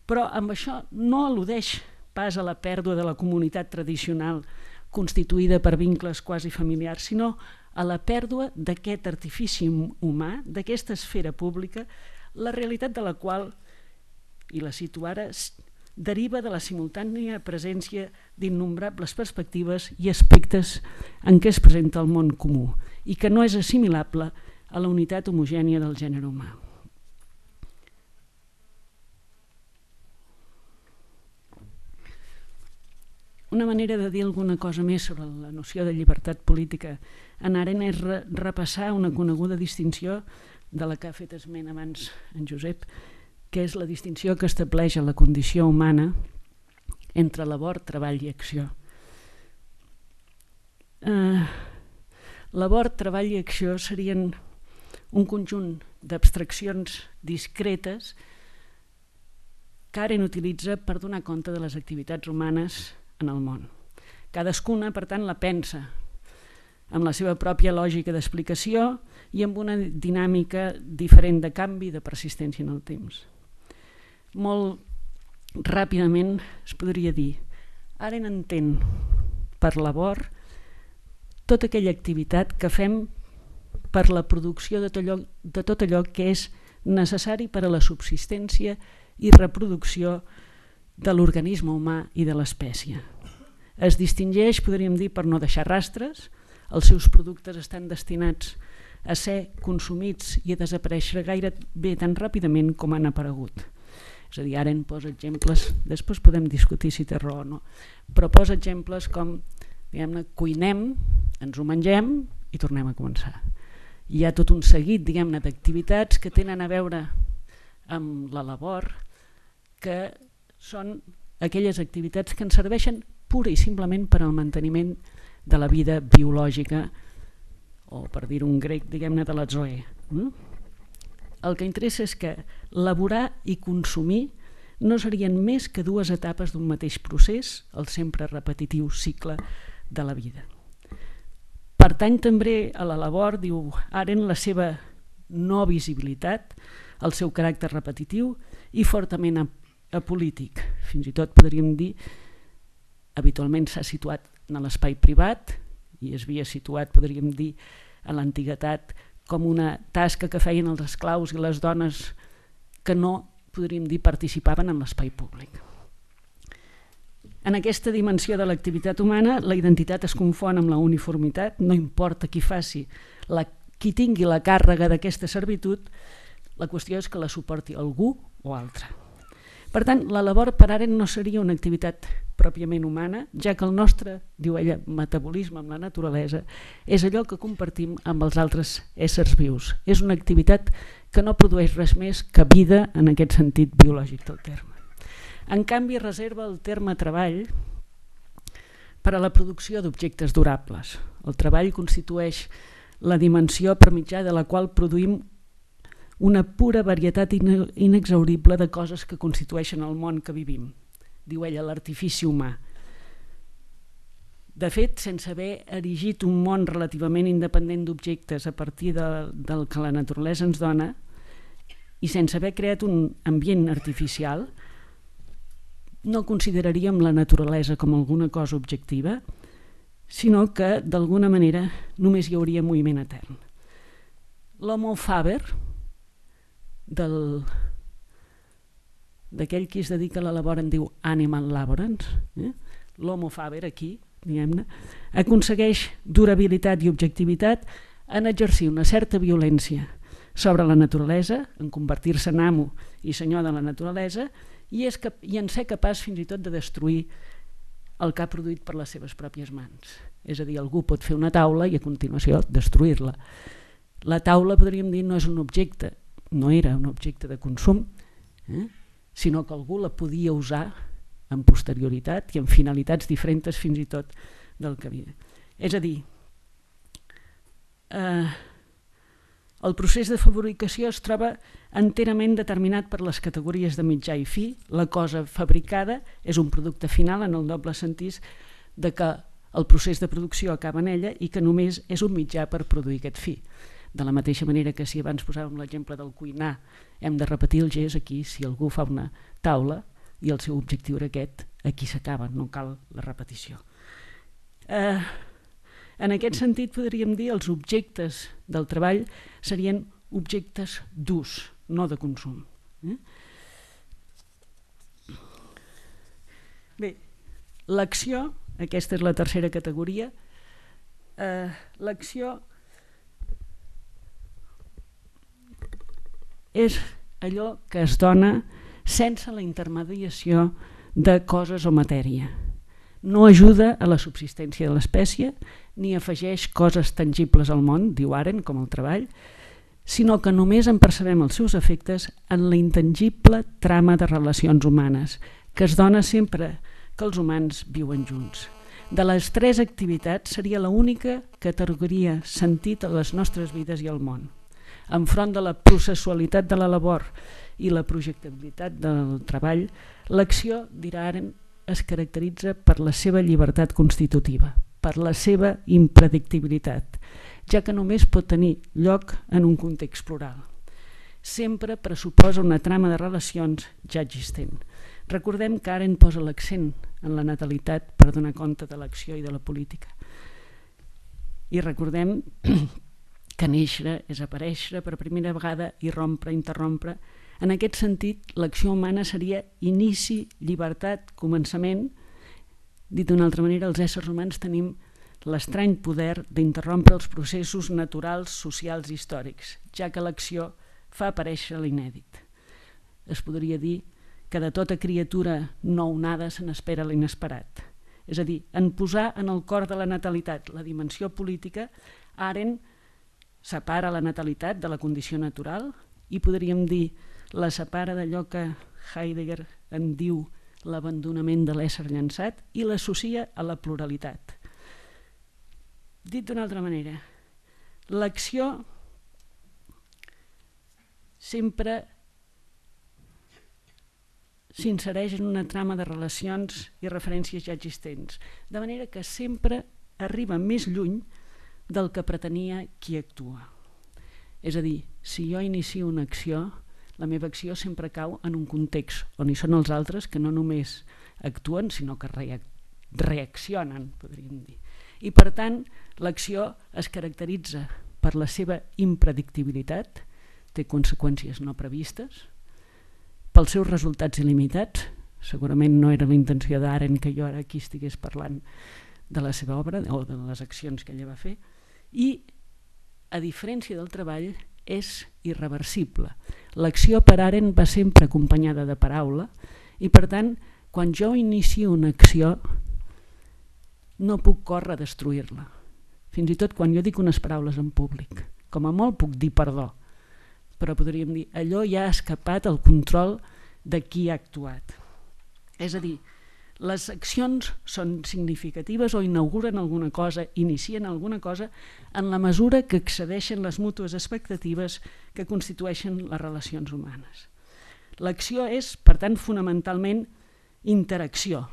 però amb això no al·ludeix pas a la pèrdua de la comunitat tradicional constituïda per vincles quasi familiars, sinó a la pèrdua d'aquest artifici humà, d'aquesta esfera pública, la realitat de la qual, i la cito ara, deriva de la simultània presència d'innombrables perspectives i aspectes en què es presenta el món comú i que no és assimilable a la unitat homogènia del gènere humà. Una manera de dir alguna cosa més sobre la noció de llibertat política en Arendt és repassar una coneguda distinció de la que ha fet esment abans en Josep, que és la distinció que estableix a la condició humana entre labor, treball i acció. Labor, treball i acció serien un conjunt d'abstraccions discretes que Arendt utilitza per donar compte de les activitats humanes en el món. Cadascuna, per tant, la pensa amb la seva pròpia lògica d'explicació i amb una dinàmica diferent de canvi i de persistència en el temps. Molt ràpidament es podria dir: Arendt entén per labor tota aquella activitat que fem per la producció de tot allò que és necessari per a la subsistència i reproducció de l'organisme humà i de l'espècie. Es distingeix, podríem dir, per no deixar rastres, els seus productes estan destinats a ser consumits i a desaparèixer gairebé tan ràpidament com han aparegut. És a dir, Arendt posa exemples, després podem discutir si té raó o no, però posa exemples com, diguem-ne, cuinem, ens ho mengem i tornem a començar. Hi ha tot un seguit, diguem-ne, d'activitats que tenen a veure amb la labor, que són aquelles activitats que ens serveixen pura i simplement per al manteniment de la vida biològica, o per dir-ho en grec, diguem-ne, de la zoe. El que interessa és que laborar i consumir no serien més que dues etapes d'un mateix procés, el sempre repetitiu cicle de la vida. Pertany també a la labor, diu Arendt, la seva no visibilitat, el seu caràcter repetitiu i fortament apolític. Fins i tot podríem dir, habitualment s'ha situat en l'espai privat i es havia situat, podríem dir, a l'antiguitat com una tasca que feien els esclaus i les dones que no, podríem dir, participaven en l'espai públic. En aquesta dimensió de l'activitat humana, la identitat es confon amb la uniformitat, no importa qui qui tingui la càrrega d'aquesta servitud, la qüestió és que la suporti algú o altre. Per tant, la labor per Arendt no seria una activitat pròpiament humana, ja que el nostre, diu ella, metabolisme amb la naturalesa és allò que compartim amb els altres éssers vius. És una activitat que no produeix res més que vida en aquest sentit biològic del terme. En canvi, reserva el terme treball per a la producció d'objectes durables. El treball constitueix la dimensió per mitjà de la qual produïm una pura varietat inexhaurible de coses que constitueixen el món que vivim. Diu ella, l'artifici humà. De fet, sense haver erigit un món relativament independent d'objectes a partir del que la naturalesa ens dona i sense haver creat un ambient artificial, no consideraríem la naturalesa com alguna cosa objectiva, sinó que, d'alguna manera, només hi hauria moviment etern. L'homo faber, d'aquell qui es dedica a la labor en diu animal laborans, l'homo faber aquí, diguem-ne, aconsegueix durabilitat i objectivitat en exercir una certa violència sobre la naturalesa, en convertir-se en amo i senyor de la naturalesa, i en ser capaç fins i tot de destruir el que ha produït per les seves pròpies mans. És a dir, algú pot fer una taula i a continuació destruir-la. La taula, podríem dir, no és un objecte, no era un objecte de consum, sinó que algú la podia usar amb posterioritat i amb finalitats diferents fins i tot del que havia. És a dir, el procés de fabricació es troba enterament determinat per les categories de mitjà i fi. La cosa fabricada és un producte final en el doble sentit de que el procés de producció acaba en ella i que només és un mitjà per produir aquest fi. De la mateixa manera que si abans posàvem l'exemple del cuinar, hem de repetir el gest aquí, si algú fa una taula i el seu objectiu era aquest, aquí s'acaba, no cal la repetició. En aquest sentit podríem dir els objectes del treball serien objectes d'ús, no de consum. Bé, l'acció, aquesta és la tercera categoria, l'acció és allò que es dona sense la intermediació de coses o matèria. No ajuda a la subsistència de l'espècie ni afegeix coses tangibles al món, diu Arendt, com el treball, sinó que només en percebem els seus efectes en la intangible trama de relacions humanes, que es dona sempre que els humans viuen junts. De les tres activitats seria l'única que atorgaria sentit a les nostres vides i al món. Enfront de la processualitat de la labor i la projectabilitat del treball, l'acció, dirà Arendt, es caracteritza per la seva llibertat constitutiva, per la seva impredictibilitat, ja que només pot tenir lloc en un context plural. Sempre pressuposa una trama de relacions ja existent. Recordem que Arendt posa l'accent en la natalitat per donar compte de l'acció i de la política. I recordem que néixer és aparèixer per primera vegada i rompre, interrompre. En aquest sentit, l'acció humana seria inici, llibertat, començament. Dit d'una altra manera, els éssers humans tenim l'estrany poder d'interrompre els processos naturals, socials i històrics, ja que l'acció fa aparèixer l'inèdit. Es podria dir que de tota criatura nounada se n'espera l'inesperat. És a dir, en posar en el cor de la natalitat la dimensió política, Arendt separa la natalitat de la condició natural i podríem dir la separa d'allò que Heidegger en diu l'abandonament de l'ésser llançat i l'associa a la pluralitat. Dit d'una altra manera, l'acció sempre s'insereix en una trama de relacions i referències ja existents, de manera que sempre arriba més lluny del que pretenia qui actua. És a dir, si jo inicio una acció, la meva acció sempre cau en un context on hi són els altres que no només actuen, sinó que reaccionen, podríem dir. I per tant, l'acció es caracteritza per la seva impredictibilitat, té conseqüències no previstes, pels seus resultats il·limitats. Segurament no era la intenció d'Arendt que jo ara aquí estigués parlant de la seva obra o de les accions que ella va fer, i, a diferència del treball, és irreversible. L'acció per Arendt va sempre acompanyada de paraula I per tant, quan jo inicio una acció, no puc córrer a destruir-la. Fins i tot quan jo dic unes paraules en públic, com a molt puc dir perdó, però podríem dir allò ja ha escapat al control de qui ha actuat. És a dir, les accions són significatives o inauguren alguna cosa, inicien alguna cosa en la mesura que excedeixen les mútues expectatives que constitueixen les relacions humanes. L'acció és, per tant, fonamentalment interacció,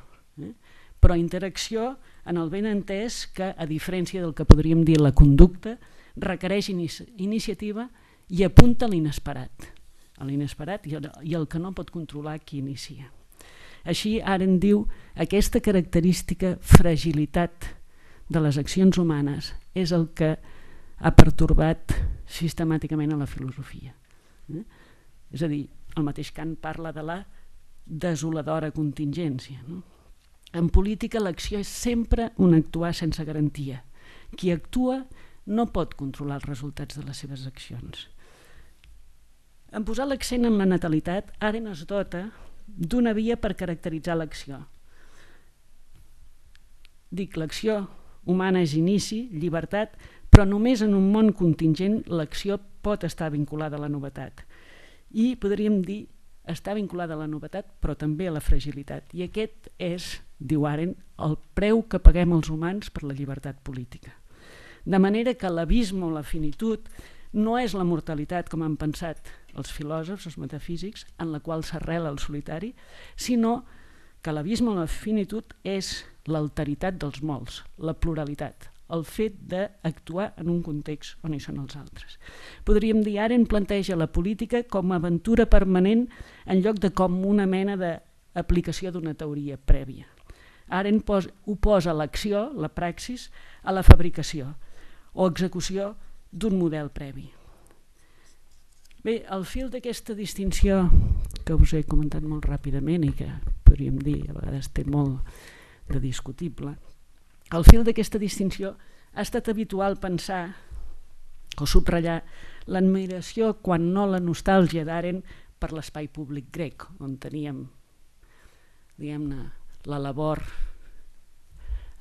però interacció en el ben entès que, a diferència del que podríem dir la conducta, requereix iniciativa i apunta a l'inesperat i el que no pot controlar qui inicia. Així, Arendt diu, aquesta característica fragilitat de les accions humanes és el que ha pertorbat sistemàticament a la filosofia. És a dir, el mateix Kant parla de la desoladora contingència. En política l'acció és sempre un actuar sense garantia. Qui actua no pot controlar els resultats de les seves accions. En posar l'accent en la natalitat, Arendt es dota d'una via per caracteritzar l'acció. Dic, l'acció humana és inici, llibertat, però només en un món contingent l'acció pot estar vinculada a la novetat. I podríem dir, està vinculada a la novetat, però també a la fragilitat. I aquest és, diu Arendt, el preu que paguem els humans per la llibertat política. De manera que l'abisme o la finitud no és la mortalitat, com han pensat els filòsofs, els metafísics, en la qual s'arrela el solitari, sinó que l'abisme o la finitud és l'alteritat dels molts, la pluralitat, el fet d'actuar en un context on hi són els altres. Podríem dir, Arendt planteja la política com a aventura permanent en lloc de com una mena d'aplicació d'una teoria prèvia. Arendt oposa l'acció, la praxis, a la fabricació o execució d'un model previ. Bé, al fil d'aquesta distinció que us he comentat molt ràpidament i que podríem dir a vegades té molt de discutible, al fil d'aquesta distinció ha estat habitual pensar o subratllar l'admiració, quan no la nostàlgia d'Arendt, per l'espai públic grec, on teníem, diguem-ne, la labor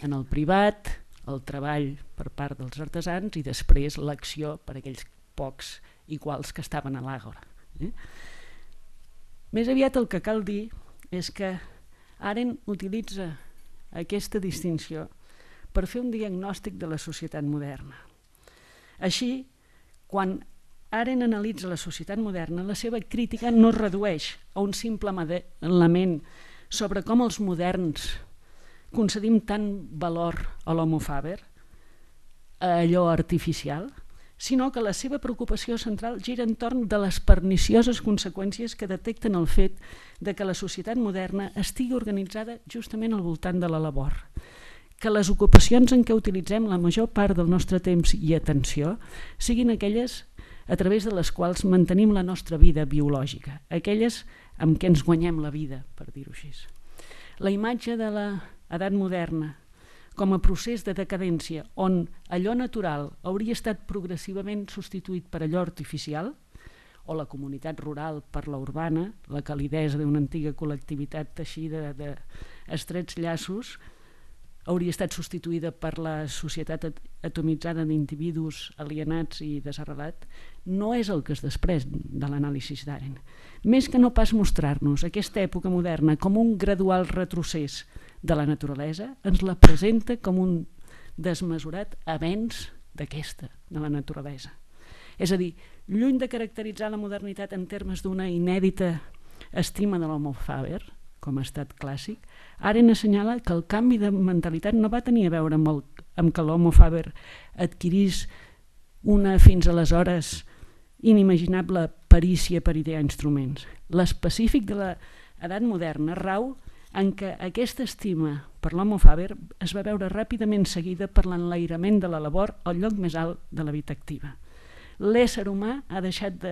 en el privat, el treball per part dels artesans i després l'acció per aquells pocs iguals que estaven a l'àgora. Més aviat el que cal dir és que Arendt utilitza aquesta distinció per fer un diagnòstic de la societat moderna. Així, quan Arendt analitza la societat moderna, la seva crítica no es redueix a un simple element sobre com els moderns concedim tant valor a l'homo faber, a allò artificial, sinó que la seva preocupació central gira entorn de les pernicioses conseqüències que detecten el fet de que la societat moderna estigui organitzada justament al voltant de la labor, que les ocupacions en què utilitzem la major part del nostre temps i atenció siguin aquelles a través de les quals mantenim la nostra vida biològica, aquelles amb què ens guanyem la vida, per dir-ho així. La imatge de l'edat moderna com a procés de decadència on allò natural hauria estat progressivament substituït per allò artificial, o la comunitat rural per la urbana, la calidesa d'una antiga col·lectivitat teixida d'estrets llaços, hauria estat substituïda per la societat atomitzada d'individus alienats i desarrelats, no és el que es desprès de l'anàlisi d'Arendt. Més que no pas mostrar-nos aquesta època moderna com un gradual retrocés de la naturalesa, ens la presenta com un desmesurat avenç d'aquesta, de la naturalesa. És a dir, lluny de caracteritzar la modernitat en termes d'una inèdita estima de l'homo faber, com a estat clàssic, Arendt assenyala que el canvi de mentalitat no va tenir a veure amb que l'homo faber adquirís una fins aleshores inimaginable perícia per idear instruments. L'específic de l'edat moderna rau en què aquesta estima per l'homo faber es va veure ràpidament seguida per l'enlairament de la labor al lloc més alt de la vida activa. L'ésser humà ha deixat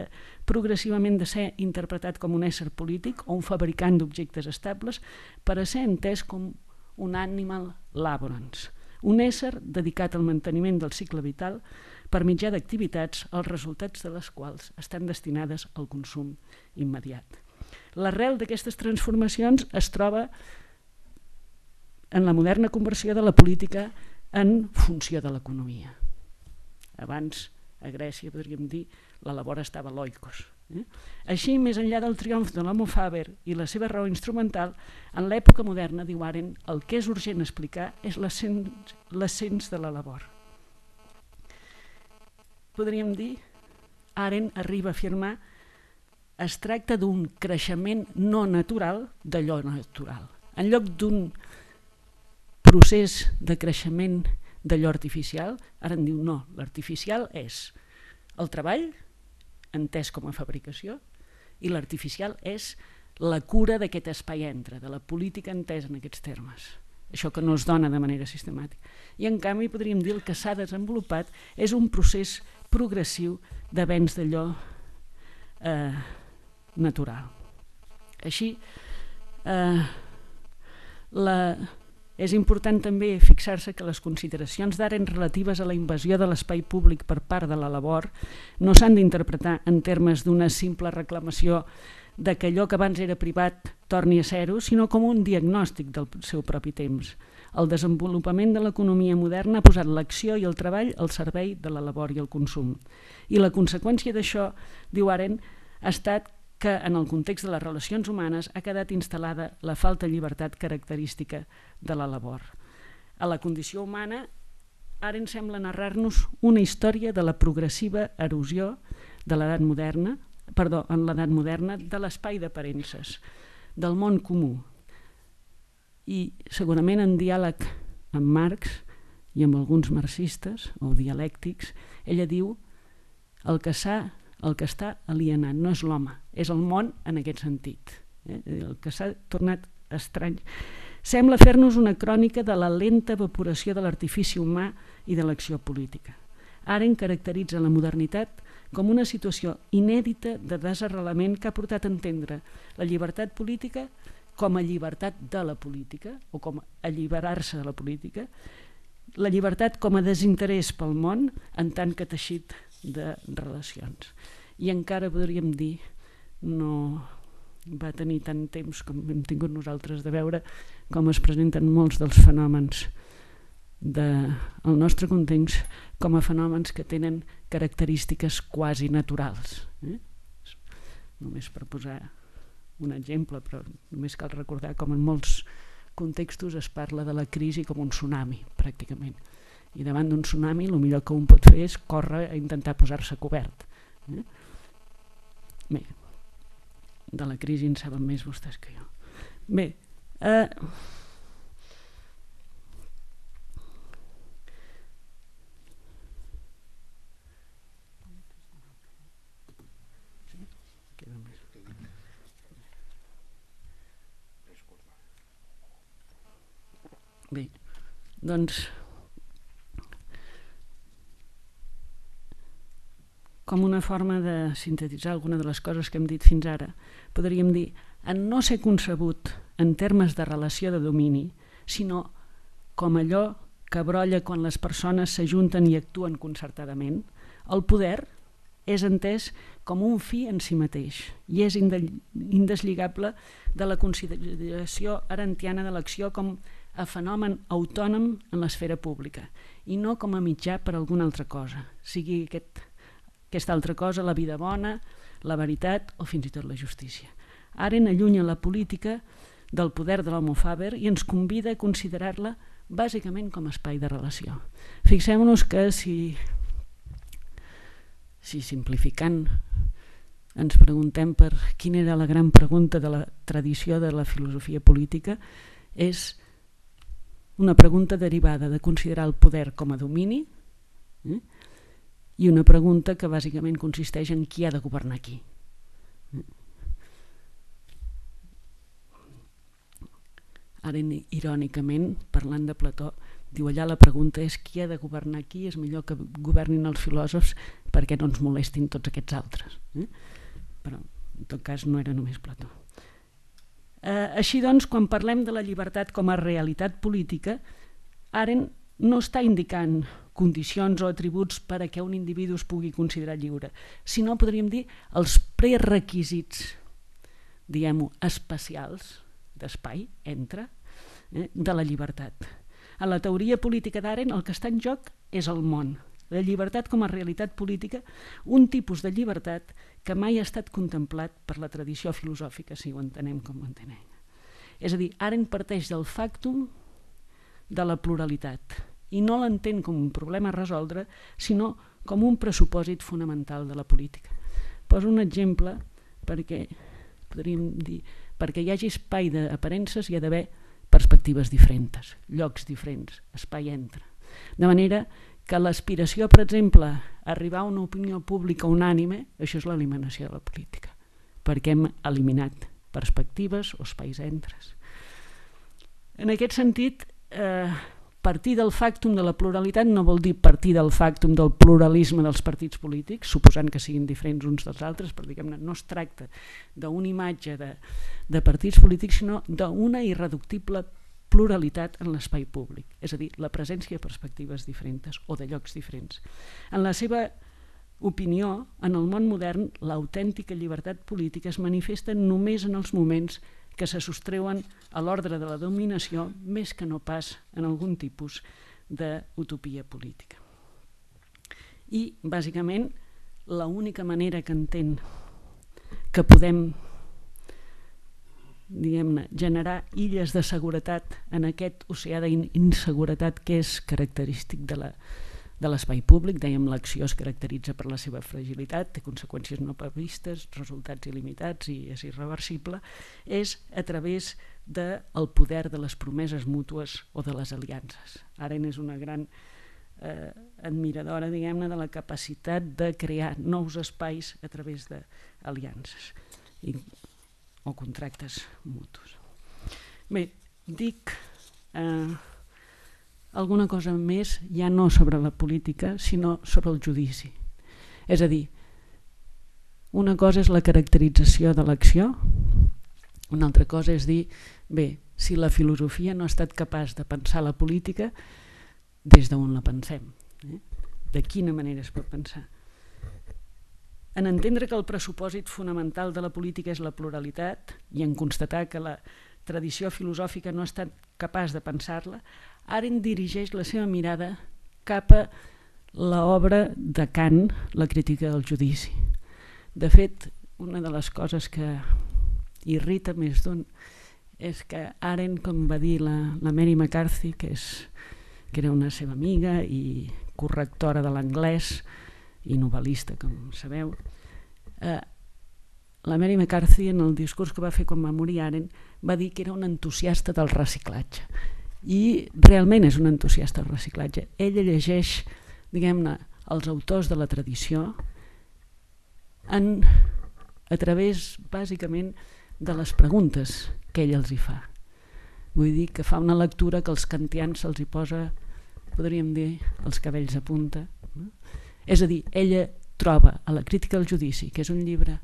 progressivament de ser interpretat com un ésser polític o un fabricant d'objectes estables per a ser entès com un animal laborans, un ésser dedicat al manteniment del cicle vital per mitjà d'activitats els resultats de les quals estan destinades al consum immediat. L'arrel d'aquestes transformacions es troba en la moderna conversió de la política en funció de l'economia. Abans, a Grècia, podríem dir, la labor estava l'oikos. Així, més enllà del triomf de l'homo faber i la seva raó instrumental, en l'època moderna, diu Arendt, el que és urgent explicar és l'ascens de la labor. Podríem dir, Arendt arriba a afirmar, es tracta d'un creixement no natural d'allò natural. En lloc d'un procés de creixement d'allò artificial, ara en diu no, l'artificial és el treball, entès com a fabricació, i l'artificial és la cura d'aquest espai entre, de la política entesa en aquests termes. Això que no es dona de manera sistemàtica. I en canvi podríem dir el que s'ha desenvolupat és un procés progressiu d'avenç d'allò natural. Així, és important també fixar-se que les consideracions d'Arendt relatives a la invasió de l'espai públic per part de la labor no s'han d'interpretar en termes d'una simple reclamació de que allò que abans era privat torni a ser-ho, sinó com un diagnòstic del seu propi temps. El desenvolupament de l'economia moderna ha posat l'acció i el treball al servei de la labor i el consum. I la conseqüència d'això, diu Arendt, ha estat que en el context de les relacions humanes ha quedat instal·lada la falta de llibertat característica de la labor. A la condició humana, Arendt sembla narrar-nos una història de la progressiva erosió de l'edat moderna, en l'edat moderna, de l'espai d'aparences, del món comú. I segurament en diàleg amb Marx i amb alguns marxistes o dialèctics, ella diu el que està alienat no és l'home, és el món en aquest sentit. El que s'ha tornat estrany. Sembla fer-nos una crònica de la lenta evaporació de l'artifici humà i de l'acció política. Arendt caracteritza la modernitat com una situació inèdita de desarrelament que ha portat a entendre la llibertat política com a llibertat de la política o com a alliberar-se de la política, la llibertat com a desinterès pel món en tant que teixit de relacions. I encara podríem dir, no va tenir tant temps com hem tingut nosaltres de veure com es presenten molts dels fenòmens del nostre context com a fenòmens que tenen característiques quasi naturals. Només per posar un exemple, però només cal recordar com en molts contextos es parla de la crisi com un tsunami, pràcticament. I davant d'un tsunami el millor que un pot fer és córrer a intentar posar-se cobert. Bé, de la crisi en saben més vostès que jo. Bé, bé, doncs com una forma de sintetitzar alguna de les coses que hem dit fins ara, podríem dir en no ser concebut en termes de relació de domini, sinó com allò que brolla quan les persones s'ajunten i actuen concertadament, el poder és entès com un fi en si mateix i és indeslligable de la consideració arendtiana de l'acció com a fenomen autònom en l'esfera pública i no com a mitjà per a alguna altra cosa, sigui aquesta altra cosa, la vida bona, la veritat o fins i tot la justícia. Arendt allunya la política del poder de l'homo faber i ens convida a considerar-la bàsicament com a espai de relació. Fixem-nos que si simplificant ens preguntem per quina era la gran pregunta de la tradició de la filosofia política, és una pregunta derivada de considerar el poder com a domini i una pregunta que bàsicament consisteix en qui ha de governar qui. Arendt, irònicament, parlant de Plató, diu allà la pregunta és qui ha de governar qui, és millor que governin els filòsofs perquè no ens molestin tots aquests altres. Però en tot cas no era només Plató. Així doncs, quan parlem de la llibertat com a realitat política, Arendt no està indicant condicions o atributs per a què un individu es pugui considerar lliure, sinó, podríem dir, els prerequisits diguem-ho, espacials d'espai entre, de la llibertat. A la teoria política d'Arendt el que està en joc és el món, la llibertat com a realitat política, un tipus de llibertat que mai ha estat contemplat per la tradició filosòfica, si ho entenem com ho entenem. És a dir, Arendt parteix del factum de la pluralitat i no l'entén com un problema a resoldre, sinó com un pressupòsit fonamental de la política. Poso un exemple perquè, podríem dir, perquè hi hagi espai d'aparences hi ha d'haver perspectives diferents, llocs diferents, espai entre. De manera que l'aspiració, per exemple, a arribar a una opinió pública unànime, això és l'eliminació de la política, perquè hem eliminat perspectives o espais entres. En aquest sentit, partir del factum de la pluralitat no vol dir partir del factum del pluralisme dels partits polítics, suposant que siguin diferents uns dels altres, però diguem-ne, no es tracta d'una imatge de partits polítics, sinó d'una irreductible pluralitat en l'espai públic, és a dir, la presència de perspectives diferents o de llocs diferents. En la seva opinió, en el món modern, l'autèntica llibertat política es manifesta només en els moments que se sostreuen a l'ordre de la dominació més que no pas en algun tipus d'utopia política. I, bàsicament, l'única manera que entén que podem, diguem-ne, generar illes de seguretat en aquest oceà d'inseguretat que és característic de l'espai públic, dèiem, l'acció es caracteritza per la seva fragilitat, té conseqüències no previstes, resultats il·limitats i és irreversible, és a través del poder de les promeses mútues o de les aliances. Arendt és una gran admiradora, diguem-ne, de la capacitat de crear nous espais a través d'aliances o contractes mutus. Bé, dic alguna cosa més, ja no sobre la política, sinó sobre el judici. És a dir, una cosa és la caracterització de l'acció, una altra cosa és dir, bé, si la filosofia no ha estat capaç de pensar la política, des d'on la pensem? De quina manera es pot pensar? En entendre que el pressupòsit fonamental de la política és la pluralitat i en constatar que la tradició filosòfica no ha estat capaç de pensar-la, Arendt dirigeix la seva mirada cap a l'obra de Kant, la crítica del judici. De fet, una de les coses que irrita més d'un és que Arendt, com va dir la Mary McCarthy, que era una seva amiga i correctora de l'anglès i novel·lista, com sabeu, la Mary McCarthy, en el discurs que va fer quan va morir Arendt, va dir que era un entusiasta del reciclatge. I realment és un entusiasta del reciclatge. Ella llegeix, diguem-ne, els autors de la tradició a través, bàsicament, de les preguntes que ell els hi fa. Vull dir que fa una lectura que als kantians se'ls hi posa, podríem dir, els cabells a punta. És a dir, ella troba a la crítica del judici, que és un llibre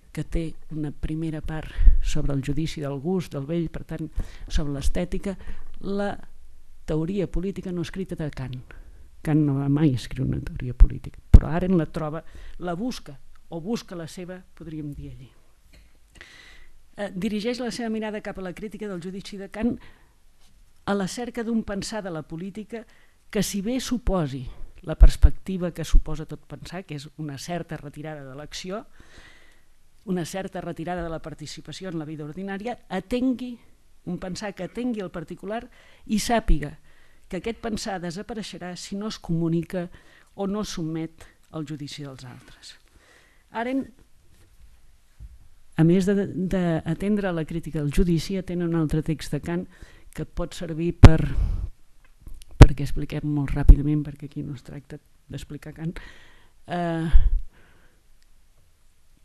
que té una primera part sobre el judici del gust, del vell, per tant, sobre l'estètica, la teoria política no escrita de Kant. Kant no va mai escriure una teoria política, però Arendt la troba, la busca, o busca la seva, podríem dir allí. Dirigeix la seva mirada cap a la crítica del judici de Kant a la cerca d'un pensar de la política que, si bé suposi la perspectiva que suposa tot pensar, que és una certa retirada de l'acció, una certa retirada de la participació en la vida ordinària, atengui un pensar que atengui el particular i sàpiga que aquest pensar desapareixerà si no es comunica o no sotmet al judici dels altres. Arendt, a més d'atendre la crítica del judici, atén un altre text de Kant que pot servir perquè expliquem molt ràpidament, perquè aquí no es tracta d'explicar Kant.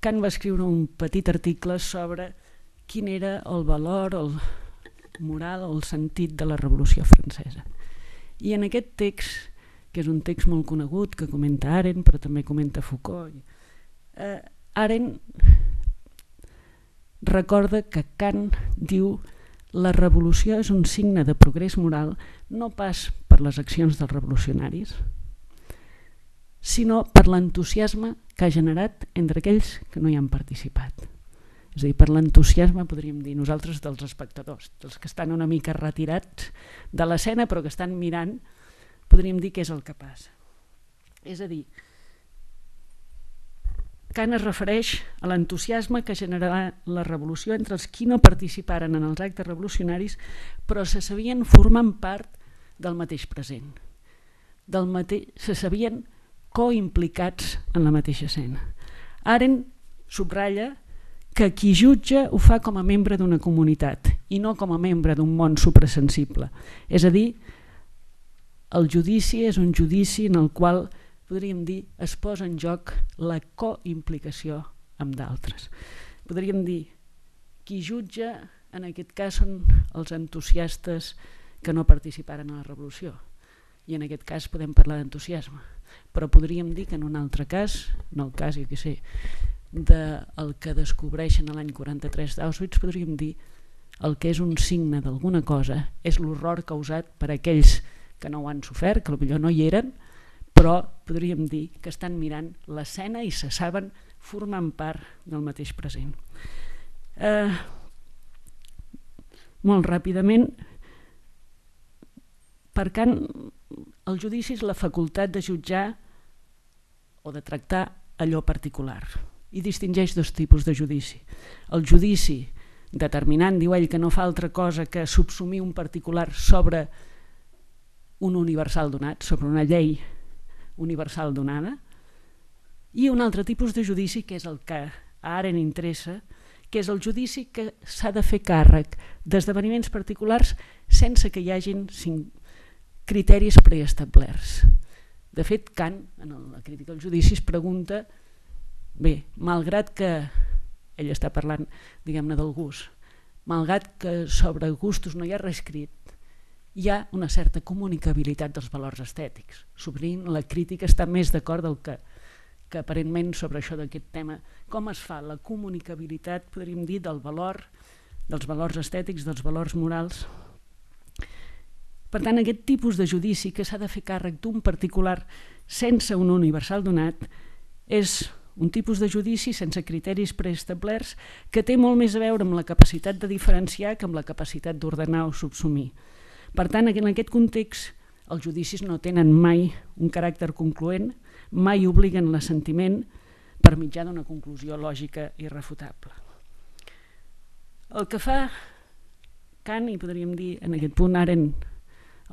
Kant va escriure un petit article sobre quin era el valor, el moral, el sentit de la Revolució Francesa. I en aquest text, que és un text molt conegut, que comenta Arendt, però també comenta Foucault, Arendt recorda que Kant diu la revolució és un signe de progrés moral no pas per les accions dels revolucionaris, sinó per l'entusiasme que ha generat entre aquells que no hi han participat. És a dir, per l'entusiasme podríem dir nosaltres dels espectadors, dels que estan una mica retirats de l'escena però que estan mirant, podríem dir què és el que passa. És a dir, Kant es refereix a l'entusiasme que generarà la revolució entre els qui no participaren en els actes revolucionaris però se sabien formant part del mateix present, se sabien coimplicats en la mateixa escena. Arendt subratlla que qui jutja ho fa com a membre d'una comunitat i no com a membre d'un món suprasensible. És a dir, el judici és un judici en el qual, podríem dir, es posa en joc la coimplicació amb d'altres. Podríem dir, qui jutja en aquest cas són els entusiastes que no participaren a la revolució i en aquest cas podem parlar d'entusiasme, però podríem dir que en un altre cas, en el cas, jo què sé, del que descobreixen l'any 43 d'Auschwitz, podríem dir el que és un signe d'alguna cosa és l'horror causat per aquells que no ho han sofert, que potser no hi eren, però podríem dir que estan mirant l'escena i se saben formant part del mateix present. Molt ràpidament, per Kant, el judici és la facultat de jutjar o de tractar allò particular i distingeix dos tipus de judici. El judici determinant, diu ell, que no fa altra cosa que subsumir un particular sobre un universal donat, sobre una llei universal donada, i un altre tipus de judici que és el que a Arendt interessa, que és el judici que s'ha de fer càrrec d'esdeveniments particulars sense que hi hagin criteris preestablerts. De fet, Kant, en la crítica al judici, es pregunta, bé, malgrat que ell està parlant, diguem-ne, del gust, malgrat que sobre gustos no hi ha res escrit, hi ha una certa comunicabilitat dels valors estètics. Sovint la crítica està més d'acord del que aparentment sobre això d'aquest tema. Com es fa la comunicabilitat, podríem dir, del valor, dels valors estètics, dels valors morals? Per tant, aquest tipus de judici que s'ha de fer càrrec d'un particular sense un universal donat és un tipus de judici sense criteris preestablerts que té molt més a veure amb la capacitat de diferenciar que amb la capacitat d'ordenar o subsumir. Per tant, en aquest context, els judicis no tenen mai un caràcter concloent, mai obliguen l'assentiment per mitjà d'una conclusió lògica irrefutable. El que fa Kant, i podríem dir en aquest punt Arendt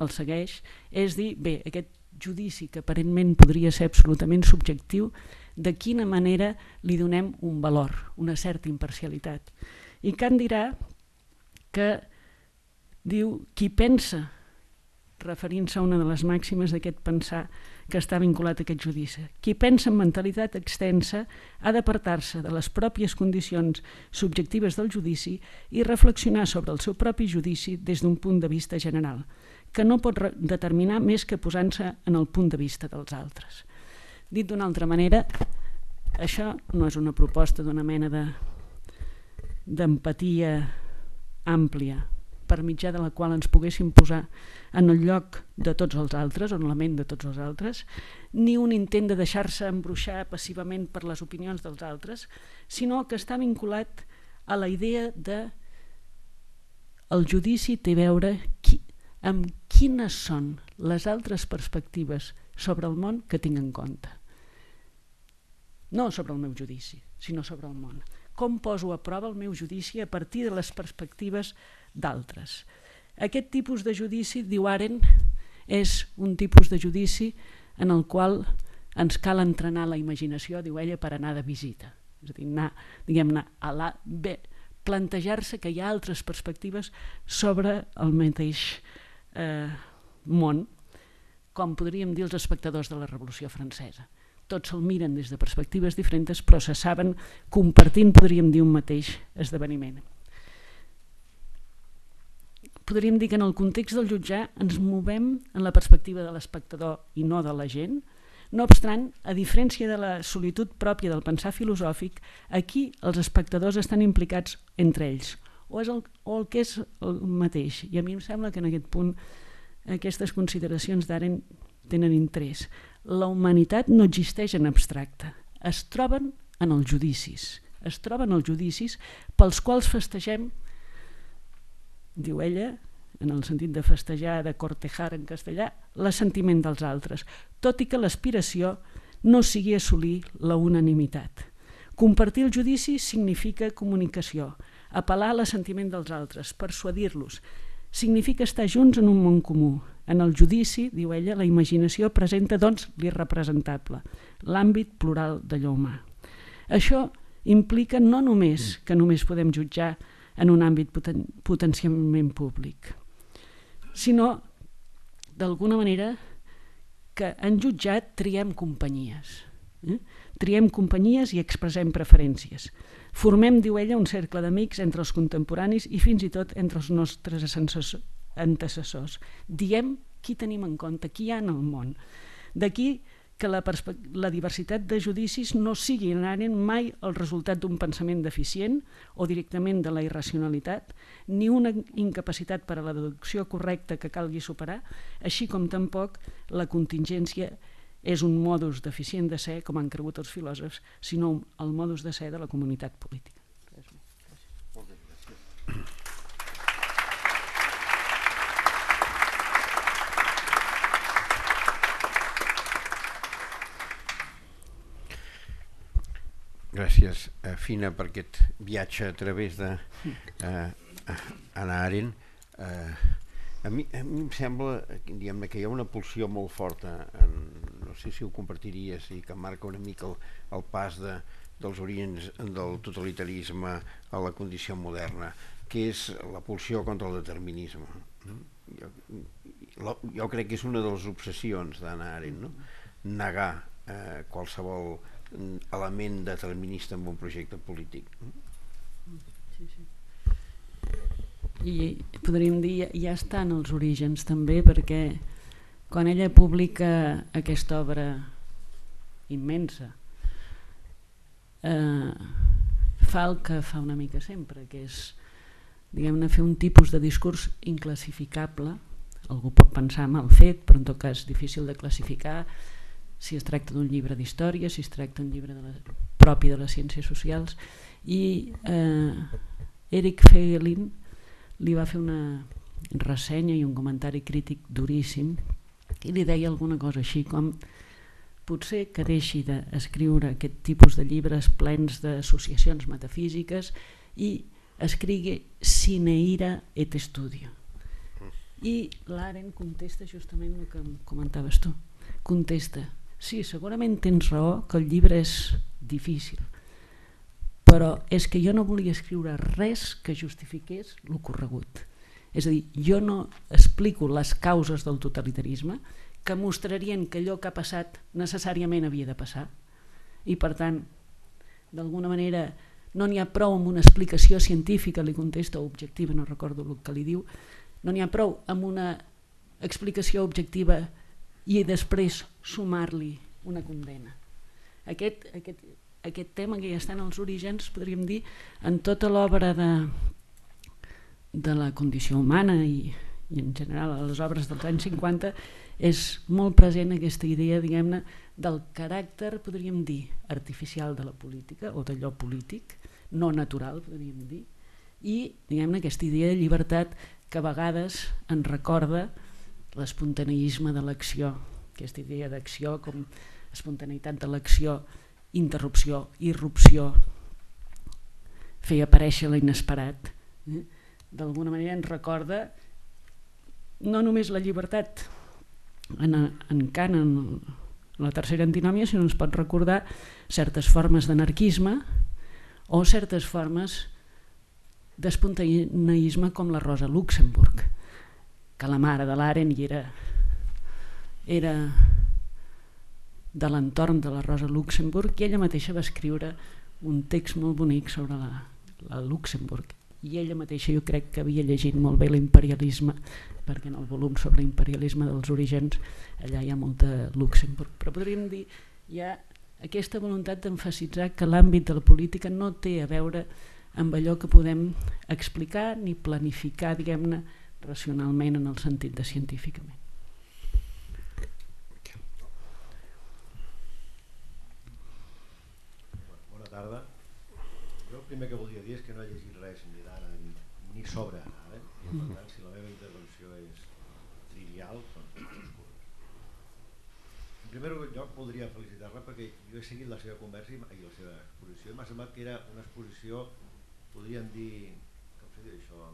el segueix, és dir, bé, aquest judici que aparentment podria ser absolutament subjectiu, de quina manera li donem un valor, una certa imparcialitat. I Kant dirà que diu, qui pensa, referint-se a una de les màximes d'aquest pensar que està vinculat a aquest judici, qui pensa en mentalitat extensa ha d'apartar-se de les pròpies condicions subjectives del judici i reflexionar sobre el seu propi judici des d'un punt de vista general, que no pot determinar més que posant-se en el punt de vista dels altres. Dit d'una altra manera, això no és una proposta d'una mena d'empatia àmplia per mitjà de la qual ens poguéssim posar en el lloc de tots els altres, o en la ment de tots els altres, ni un intent de deixar-se embruixar passivament per les opinions dels altres, sinó que està vinculat a la idea de el judici té a veure amb quines són les altres perspectives sobre el món que tinc en compte. No sobre el meu judici, sinó sobre el món. Com poso a prova el meu judici a partir de les perspectives d'altres. Aquest tipus de judici, diu Arendt, és un tipus de judici en el qual ens cal entrenar la imaginació, diu ella, per anar de visita. És a dir, diguem-ne, plantejar-se que hi ha altres perspectives sobre el mateix món, com podríem dir els espectadors de la Revolució Francesa. Tots se'l miren des de perspectives diferents, però se saben compartint, podríem dir, un mateix esdeveniment. Podríem dir que en el context del jutjar ens movem en la perspectiva de l'espectador i no de la gent. No obstant, a diferència de la solitud pròpia del pensar filosòfic, aquí els espectadors estan implicats entre ells, o el que és el mateix. I a mi em sembla que en aquest punt aquestes consideracions d'Arendt tenen interès. La humanitat no existeix en abstracte, es troben en els judicis, es troben els judicis pels quals festegem, diu ella, en el sentit de festejar, de cortejar en castellà, l'assentiment dels altres, tot i que l'aspiració no sigui assolir la unanimitat. Compartir el judici significa comunicació, apel·lar a l'assentiment dels altres, persuadir-los, significa estar junts en un món comú. En el judici, diu ella, la imaginació presenta, doncs, l'irrepresentable, l'àmbit plural d'allò humà. Això implica no només que només podem jutjar en un àmbit potencialment públic, sinó, d'alguna manera, que en jutjat triem companyies. Triem companyies i expressem preferències. Formem, diu ella, un cercle d'amics entre els contemporanis i fins i tot entre els nostres antecessors. Diem qui tenim en compte, qui hi ha en el món. D'aquí que la diversitat de judicis no sigui inherent mai el resultat d'un pensament deficient o directament de la irracionalitat, ni una incapacitat per a la deducció correcta que calgui superar, així com tampoc la contingència és un modus deficient de ser, com han cregut els filòsofs, sinó el modus de ser de la comunitat política. Gràcies, Fina, per aquest viatge a través de Hannah Arendt. A mi em sembla, diguem-ne, que hi ha una pulsió molt forta, no sé si ho compartiries, i que marca una mica el pas dels orígens del totalitarisme a la condició moderna, que és la pulsió contra el determinisme. Jo crec que és una de les obsessions d'Hannah Arendt, no? Negar qualsevol element determinista en un projecte polític. Sí, sí. I podríem dir, ja estan els orígens també, perquè quan ella publica aquesta obra immensa fa el que fa una mica sempre, que és, diguem-ne, fer un tipus de discurs inclassificable. Algú pot pensar mal fet, però en tot cas difícil de classificar, si es tracta d'un llibre d'història, si es tracta d'un llibre propi de les ciències socials. I Eric Feiglin li va fer una ressenya i un comentari crític duríssim i li deia alguna cosa així com: potser que deixi d'escriure aquest tipus de llibres plens d'associacions metafísiques i escrigui sine ira et studio. I l'Arendt contesta justament el que comentaves tu. Contesta: sí, segurament tens raó que el llibre és difícil, però és que jo no volia escriure res que justifiqués l'ocorregut. És a dir, jo no explico les causes del totalitarisme que mostrarien que allò que ha passat necessàriament havia de passar, i per tant, d'alguna manera, no n'hi ha prou amb una explicació científica, li contesta, o objectiva, no recordo el que li diu, no n'hi ha prou amb una explicació objectiva i després sumar-li una condena. Aquest tema que ja està en els orígens, podríem dir, en tota l'obra de la condició humana i en general a les obres dels anys 50, és molt present aquesta idea, diguem-ne, del caràcter, podríem dir, artificial de la política o d'allò polític, no natural, podríem dir, i, diguem-ne, aquesta idea de llibertat que a vegades ens recorda l'espontaneisme de l'acció, aquesta idea d'acció com espontaneïtat de l'acció, interrupció, irrupció, fer aparèixer l'inesperat. D'alguna manera ens recorda no només la llibertat en Kant, en la tercera antinòmia, sinó ens pot recordar certes formes d'anarquisme o certes formes d'espontaneisme com la Rosa Luxemburg, que la mare de l'Arendt era de l'entorn de la Rosa Luxemburg, i ella mateixa va escriure un text molt bonic sobre la Luxemburg, i ella mateixa jo crec que havia llegit molt bé l'imperialisme, perquè en el volum sobre l'imperialisme dels orígens allà hi ha molta Luxemburg, però podríem dir hi ha aquesta voluntat d'emfasitzar que l'àmbit de la política no té a veure amb allò que podem explicar ni planificar, diguem-ne, racionalment en el sentit de científicament. Bona tarda. primer que voldria dir és que no he llegit res ni d'ara ni sobre ara, i per tant si la meva intervenció és trivial doncs disculpes. En primer lloc voldria felicitar-la perquè jo he seguit la seva conversa i la seva exposició i m'ha semblat que era una exposició, podríem dir, com se diu això,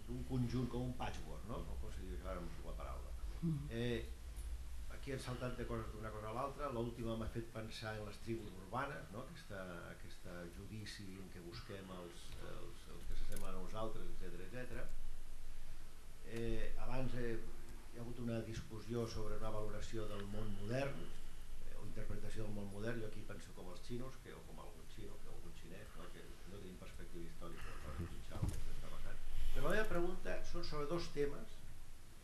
d'un conjunt com un patchwork, no? Com se diu això, ara no sé la paraula. Aquí han saltat de coses d'una cosa a l'altra. L'última m'ha fet pensar en les tribus urbanes, no? Aquest judici en què busquem els que s'assemblen a nosaltres, etc. Abans hi ha hagut una discussió sobre una valoració del món modern o interpretació del món modern. Jo aquí penso com els xinos o com algun xino, o algun xinès, no? Que no tenim perspectiva històrica per jutjar el que està passant. Però la meva pregunta són sobre dos temes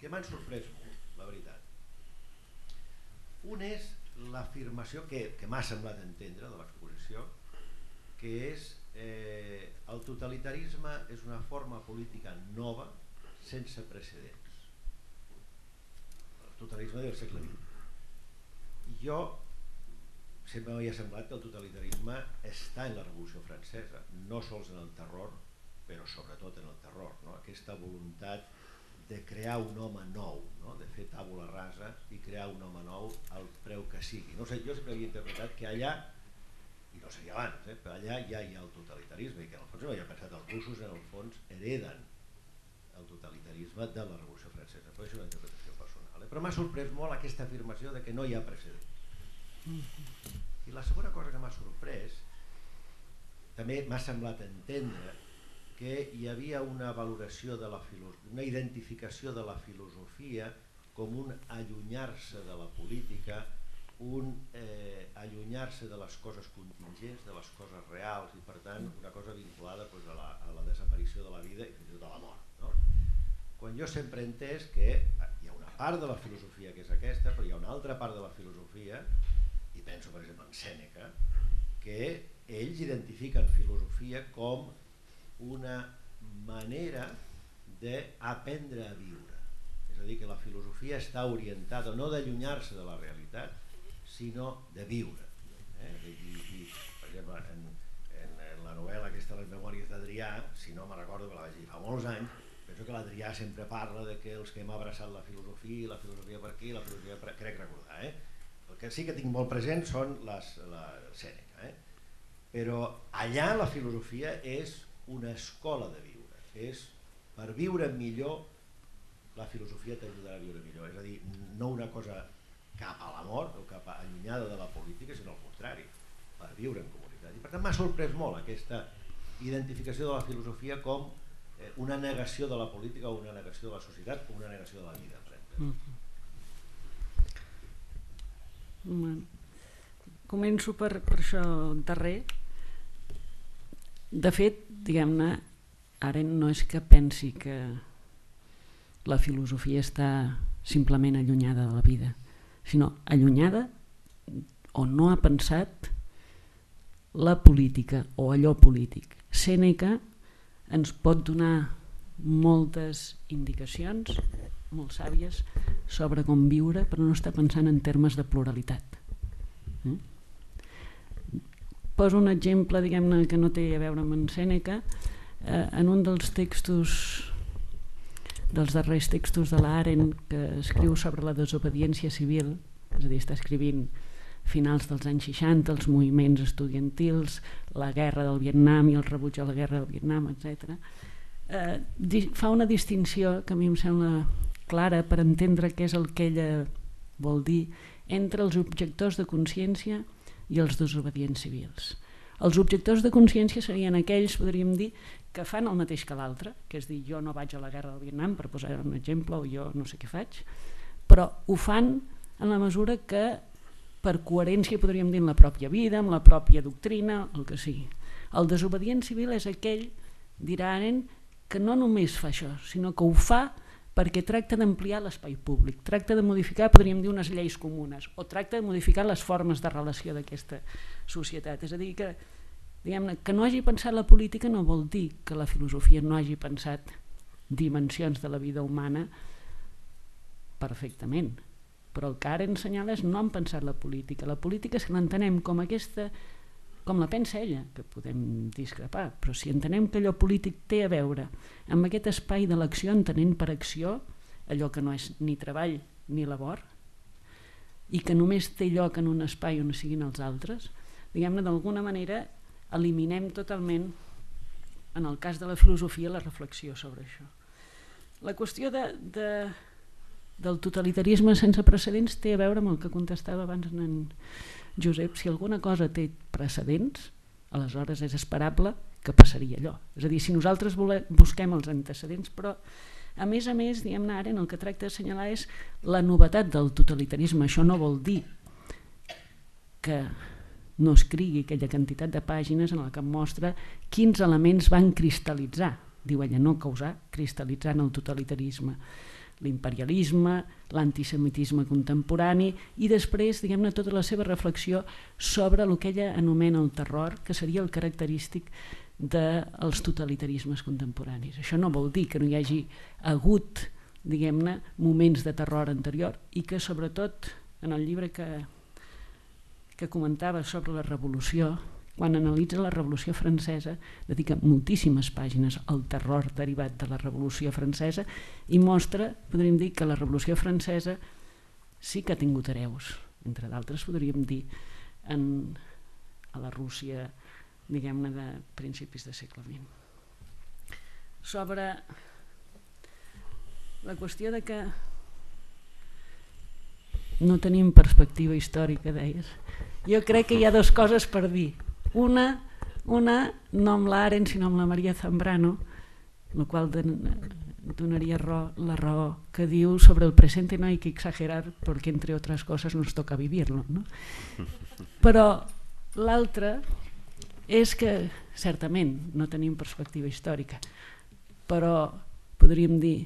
que m'han sorprès molt, la veritat. Un és l'afirmació que m'ha semblat entendre de l'exposició, que és el totalitarisme és una forma política nova sense precedents. El totalitarisme del segle XX. Jo sempre m'havia semblat que el totalitarisme està en la Revolució Francesa, no sols en el terror, però sobretot en el terror, no? Aquesta voluntat de crear un home nou, no? De fer tàbula rasa i crear un home nou al preu que sigui. No sé, jo sempre havia interpretat que allà, i no seria abans, però allà ja hi ha el totalitarisme i que en el fons no havia pensat els russos en el fons hereden el totalitarisme de la Revolució Francesa. Però és una interpretació personal. Però m'ha sorprès molt aquesta afirmació de que no hi ha precedents. I la segona cosa que m'ha sorprès, també m'ha semblat entendre que hi havia una valoració de una identificació de la filosofia com un allunyar-se de la política, un allunyar-se de les coses contingents, de les coses reals i per tant una cosa vinculada a la desaparició de la vida i fins i tot a la mort, no? Quan jo sempre he entès que hi ha una part de la filosofia que és aquesta, però hi ha una altra part de la filosofia, i penso per exemple en Sèneca, que ells identifiquen filosofia com una manera d'aprendre a viure. És a dir, que la filosofia està orientada no d'allunyar-se de la realitat, sinó de viure. I per exemple, en la novel·la aquesta, Les memòries d'Adrià, si no me'n recordo, que la vaig dir fa molts anys, penso que l'Adrià sempre parla de que els que hem abraçat la filosofia per aquí, la filosofia per... crec recordar. El que sí que tinc molt present són la Sèneca. Però allà la filosofia és una escola de viure, és per viure millor la filosofia t'ajudarà a viure millor, és a dir, no una cosa cap a la mort o cap allunyada de la política, sinó al contrari, per viure en comunitat. I per tant m'ha sorprès molt aquesta identificació de la filosofia com una negació de la política o una negació de la societat o una negació de la vida. Començo per això darrer. De fet, diguem-ne, Arendt no és que pensi que la filosofia està simplement allunyada de la vida, sinó allunyada o no ha pensat la política o allò polític. Sèneca ens pot donar moltes indicacions, molt sàvies, sobre com viure, però no està pensant en termes de pluralitat. Poso un exemple, diguem-ne, que no té a veure amb en Sèneca. En un dels darrers textos de l'Arendt, que escriu sobre la desobediència civil, és a dir, està escrivint finals dels anys 60, els moviments estudiantils, la guerra del Vietnam i el rebuig a la guerra del Vietnam, etc. Fa una distinció que a mi em sembla clara per entendre què és el que ella vol dir entre els objectors de consciència i els desobedients civils. Els objectors de consciència serien aquells, podríem dir, que fan el mateix que l'altre, que és dir, jo no vaig a la guerra del Vietnam, per posar un exemple, o jo no sé què faig, però ho fan en la mesura que, per coherència, podríem dir, en la pròpia vida, amb la pròpia doctrina, el que sigui. El desobedient civil és aquell, dirà Arendt, que no només fa això, sinó que ho fa perquè tracta d'ampliar l'espai públic, tracta de modificar, podríem dir, unes lleis comunes, o tracta de modificar les formes de relació d'aquesta societat. És a dir, que, diguem-ne, que no hagi pensat la política no vol dir que la filosofia no hagi pensat dimensions de la vida humana perfectament, però el que ara assenyala és no han pensat la política. La política, si l'entenem com aquesta com la pensa ella, que podem discrepar, però si entenem que allò polític té a veure amb aquest espai de l'acció, entenent per acció allò que no és ni treball ni labor, i que només té lloc en un espai on siguin els altres, diguem-ne, d'alguna manera eliminem totalment, en el cas de la filosofia, la reflexió sobre això. La qüestió del totalitarisme sense precedents té a veure amb el que contestava abans en Josep. Si alguna cosa té precedents, aleshores és esperable que passaria allò. És a dir, si nosaltres busquem els antecedents, però a més, diguem-ne, ara el que tracta d'assenyalar és la novetat del totalitarisme. Això no vol dir que no escrigui aquella quantitat de pàgines en la que mostra quins elements van cristal·litzar, diu ella, no causar, cristal·litzar en el totalitarisme. L'imperialisme, l'antisemitisme contemporani i després, diguem-ne, tota la seva reflexió sobre el que ella anomena el terror, que seria el característic dels totalitarismes contemporanis. Això no vol dir que no hi hagi hagut, diguem-ne, moments de terror anterior i que sobretot en el llibre que comentava sobre la revolució, quan analitza la Revolució Francesa, dedica moltíssimes pàgines al terror derivat de la Revolució Francesa i mostra, podríem dir, que la Revolució Francesa sí que ha tingut hereus, entre d'altres podríem dir a la Rússia, diguem-ne, de principis de segle XX. Sobre la qüestió de que no tenim perspectiva històrica, deies, jo crec que hi ha dues coses per dir. Una no amb l'Arendt, sinó amb la Maria Zambrano, la qual donaria la raó que diu sobre el presente no hay que exagerar porque entre otras cosas nos toca vivirlo, no? Però l'altra és que certament no tenim perspectiva històrica, però podríem dir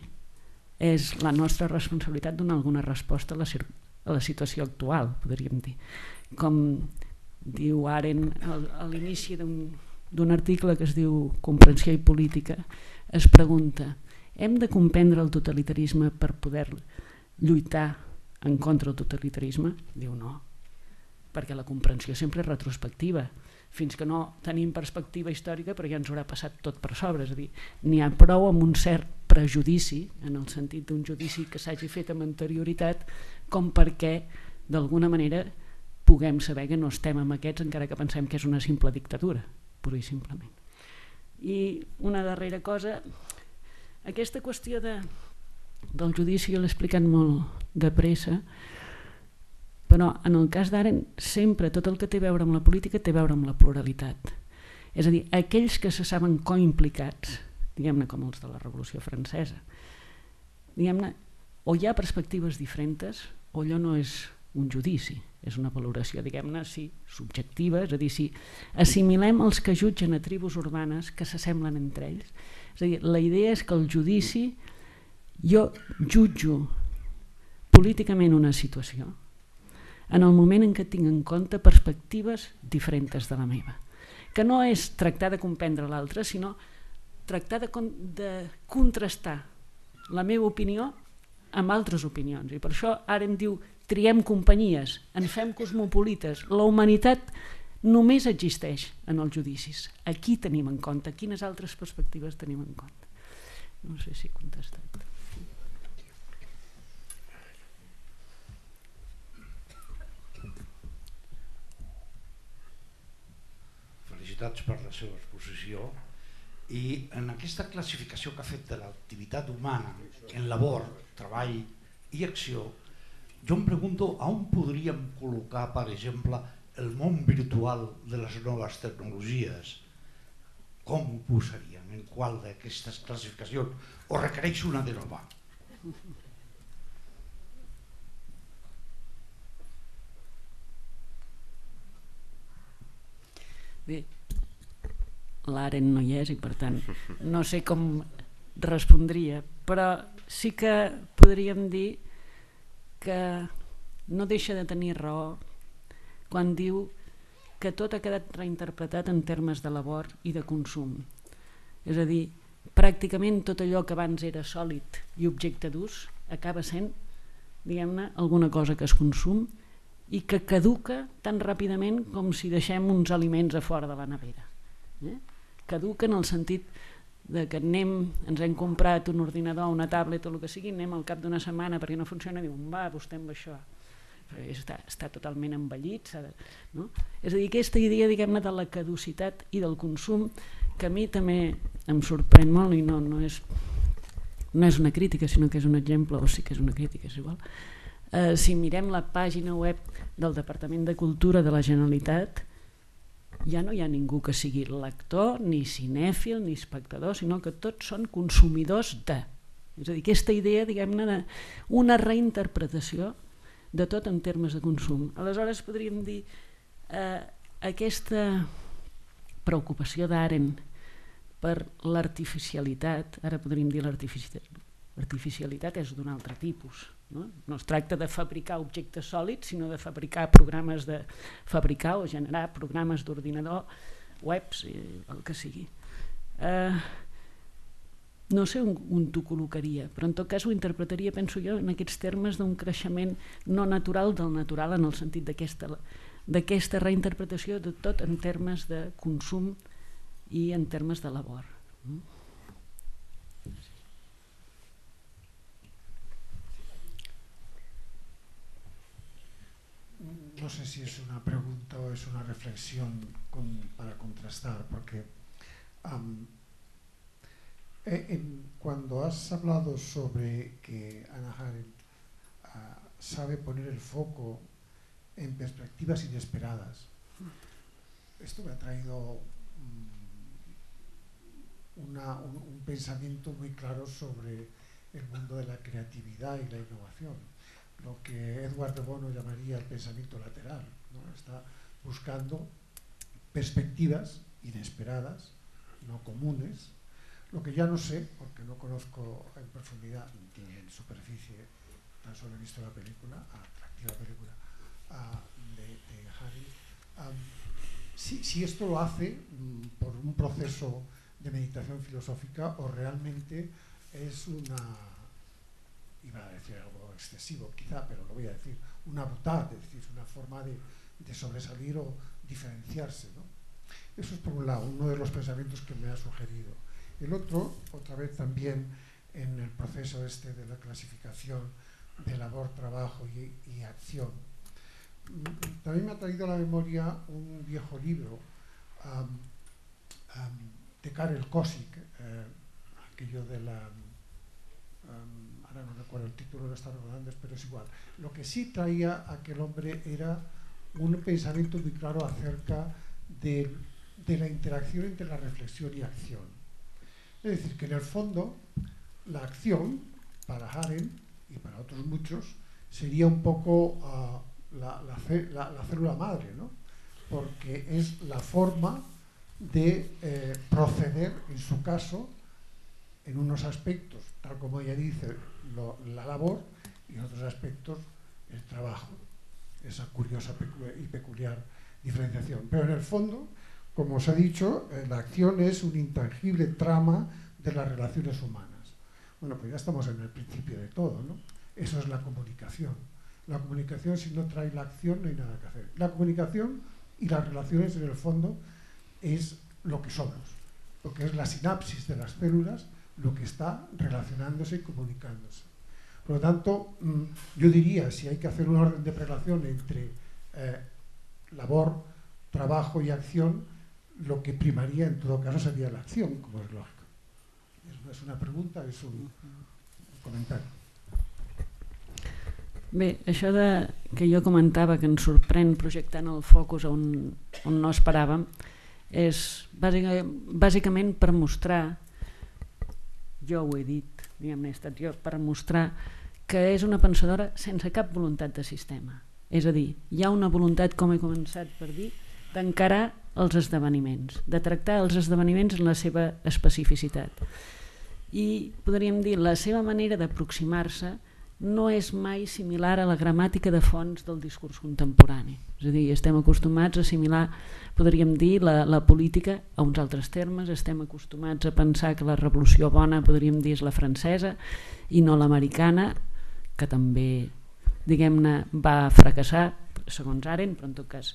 és la nostra responsabilitat donar alguna resposta a la situació actual, podríem dir. Com diu Arendt a l'inici d'un article que es diu Comprensió i política, es pregunta: hem de comprendre el totalitarisme per poder lluitar en contra del totalitarisme? Diu no, perquè la comprensió sempre és retrospectiva, fins que no tenim perspectiva històrica, però ja ens haurà passat tot per sobre. És a dir, n'hi ha prou amb un cert prejudici, en el sentit d'un judici que s'hagi fet amb anterioritat, com perquè d'alguna manera puguem saber que no estem amb aquests encara que pensem que és una simple dictadura, pura i simplement. I una darrera cosa, aquesta qüestió del judici jo l'he explicat molt de pressa, però en el cas d'Arendt sempre tot el que té a veure amb la política té a veure amb la pluralitat. És a dir, aquells que se saben coimplicats, diguem-ne com els de la Revolució Francesa, diguem-ne, o hi ha perspectives diferents o allò no és un judici, és una valoració, diguem-ne, sí, subjectiva, és a dir, si assimilem els que jutgen a tribus urbanes que s'assemblen entre ells, és a dir, la idea és que el judici, jo jutjo políticament una situació en el moment en què tinc en compte perspectives diferents de la meva, que no és tractar de comprendre l'altre, sinó tractar de contrastar la meva opinió amb altres opinions. I per això ara em diu triem companyies, ens fem cosmopolites, la humanitat només existeix en els judicis. Aquí tenim en compte, quines altres perspectives tenim en compte. No sé si he contestat. Felicitats per la seva exposició. I en aquesta classificació que ha fet de l'activitat humana en labor, treball i acció, jo em pregunto on podríem col·locar, per exemple, el món virtual de les noves tecnologies. Com ho posaríem? En qual d'aquestes classificacions? O requereix una de nova? Bé, l'Arendt no hi és i per tant no sé com respondria, però sí que podríem dir que no deixa de tenir raó quan diu que tot ha quedat reinterpretat en termes de labor i de consum. És a dir, pràcticament tot allò que abans era sòlid i objecte d'ús acaba sent, diguem-ne, alguna cosa que es consum i que caduca tan ràpidament com si deixem uns aliments a fora de la nevera. Caduca en el sentit de que ens hem comprat un ordinador, una tablet o el que sigui, anem al cap d'una setmana perquè no funciona i diuen, va, vostè amb això. Està totalment envellit. No? És a dir, aquesta idea, diguem-ne, de la caducitat i del consum, que a mi també em sorprèn molt i no és una crítica, sinó que és un exemple, o sí que és una crítica, és igual. Si mirem la pàgina web del Departament de Cultura de la Generalitat, ja no hi ha ningú que sigui lector, ni cinèfil, ni espectador, sinó que tots són consumidors de. És a dir, aquesta idea, diguem-ne, d'una reinterpretació de tot en termes de consum. Aleshores podríem dir aquesta preocupació d'Arendt per l'artificialitat, ara podríem dir l'artificialitat és d'un altre tipus. No es tracta de fabricar objectes sòlids, sinó de fabricar programes de fabricar o generar programes d'ordinador, webs, el que sigui. No sé on t'ho col·locaria, però en tot cas ho interpretaria, penso jo, en aquests termes d'un creixement no natural del natural, en el sentit d'aquesta reinterpretació de tot en termes de consum i en termes de labor. No sé si es una pregunta o es una reflexión para contrastar, porque cuando has hablado sobre que Hannah Arendt sabe poner el foco en perspectivas inesperadas, esto me ha traído un pensamiento muy claro sobre el mundo de la creatividad y la innovación, lo que Edward de Bono llamaría el pensamiento lateral, ¿no? Está buscando perspectivas inesperadas, no comunes, lo que ya no sé, porque no conozco en profundidad ni en superficie, tan solo he visto la película, atractiva película de Harry. Si esto lo hace por un proceso de meditación filosófica o realmente es iba a decir algo excesivo quizá, pero lo voy a decir, una boutade, es decir, una forma de sobresalir o diferenciarse, ¿no? Eso es por un lado, uno de los pensamientos que me ha sugerido. El otro, otra vez también en el proceso de la clasificación de labor, trabajo y acción, también me ha traído a la memoria un viejo libro de Karel Kosik, aquello de la... ahora no recuerdo el título, lo está recordando, pero es igual. Lo que sí traía aquel hombre era un pensamiento muy claro acerca de la interacción entre la reflexión y acción. Es decir, que en el fondo la acción, para Arendt y para otros muchos, sería un poco la célula madre, ¿no? Porque es la forma de proceder, en su caso, en unos aspectos, tal como ella dice, la labor, y en otros aspectos, el trabajo. Esa curiosa y peculiar diferenciación. Pero en el fondo, como os he dicho, la acción es un intangible trama de las relaciones humanas. Bueno, pues ya estamos en el principio de todo, ¿no? Eso es la comunicación. La comunicación, si no trae la acción, no hay nada que hacer. La comunicación y las relaciones, en el fondo, es lo que somos, porque es la sinapsis de las células lo que está relacionándose y comunicándose. Por lo tanto, yo diría, si hay que hacer un orden de relación entre labor, trabajo y acción, lo que primaría en todo caso sería la acción, como es lógico. No és una pregunta, és un comentari. Bé, això que jo comentava que ens sorprèn projectant el focus on no esperàvem és bàsicament per mostrar, jo ho he dit, diguem-ne, he estat jo, per mostrar que és una pensadora sense cap voluntat de sistema. És a dir, hi ha una voluntat, com he començat per dir, d'encarar els esdeveniments, de tractar els esdeveniments en la seva especificitat. I podríem dir, la seva manera d'aproximar-se no és mai similar a la gramàtica de fons del discurs contemporani. És a dir, estem acostumats a assimilar, podríem dir, la política a uns altres termes, estem acostumats a pensar que la revolució bona, podríem dir, és la francesa i no l'americana, que també, diguem-ne, va fracassar, segons Arendt, però en tot cas.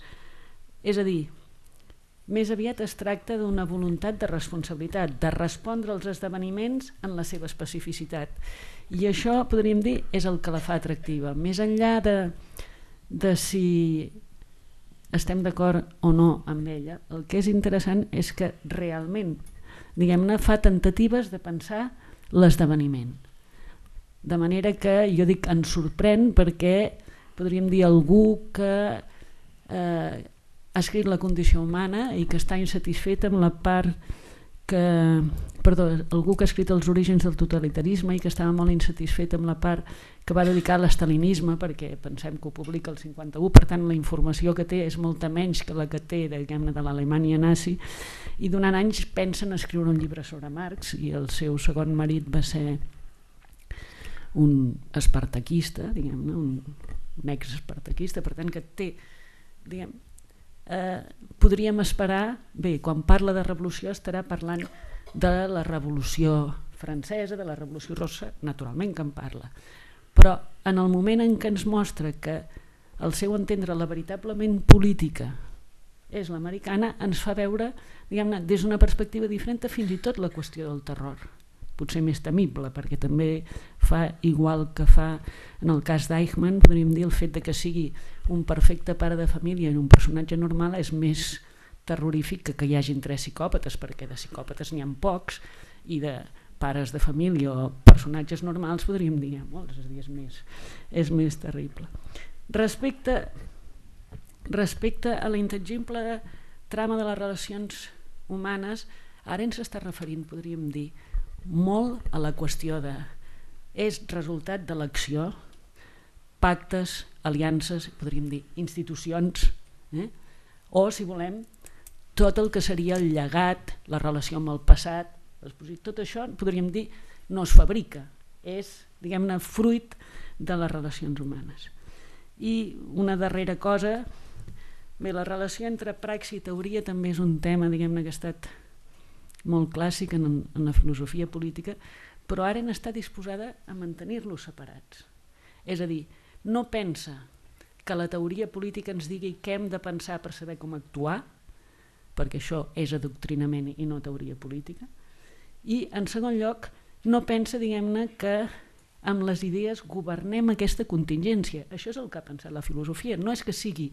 És a dir, més aviat es tracta d'una voluntat de responsabilitat, de respondre als esdeveniments en la seva especificitat. I això, podríem dir, és el que la fa atractiva. Més enllà de si estem d'acord o no amb ella, el que és interessant és que realment, diguem-ne, fa temptatives de pensar l'esdeveniment. De manera que, jo dic, ens sorprèn perquè, podríem dir, algú que ha escrit La condició humana i que està insatisfet amb la part que... Perdó, algú que ha escrit Els orígens del totalitarisme i que estava molt insatisfet amb la part que va dedicar a l'estalinisme, perquè pensem que ho publica el 51, per tant la informació que té és molta menys que la que té, diguem-ne, de l'Alemanya nazi, i durant anys pensen escriure un llibre sobre Marx, i el seu segon marit va ser un espartaquista, diguem-ne, un ex-espartaquista, per tant que té, diguem, podríem esperar, bé, quan parla de revolució estarà parlant de la revolució francesa, de la revolució russa, naturalment que en parla, però en el moment en què ens mostra que el seu entendre la veritablement política és l'americana, ens fa veure, diguem-ne, des d'una perspectiva diferent fins i tot la qüestió del terror, potser més temible, perquè també fa igual que fa en el cas d'Eichmann, podríem dir el fet de que sigui un perfecte pare de família i un personatge normal és més terrorífic que hi hagin 3 psicòpates, perquè de psicòpates n'hi ha pocs i de pares de família o personatges normals podríem dir molts, és a dir, és més terrible. Respecte a la intangible trama de les relacions humanes, ara ens està referint, podríem dir, molt a la qüestió de és resultat de l'acció, pactes, aliances, podríem dir institucions, o si volem tot el que seria el llegat, la relació amb el passat, tot això podríem dir no es fabrica, és, diguem-ne, fruit de les relacions humanes. I una darrera cosa, bé, la relació entre praxi i teoria també és un tema, diguem-ne, que ha estat molt clàssic en la filosofia política, però ara està disposada a mantenir-los separats. És a dir, no pensa que la teoria política ens digui què hem de pensar per saber com actuar, perquè això és adoctrinament i no teoria política, i en segon lloc no pensa, diguem-ne, que amb les idees governem aquesta contingència. Això és el que ha pensat la filosofia. No és que sigui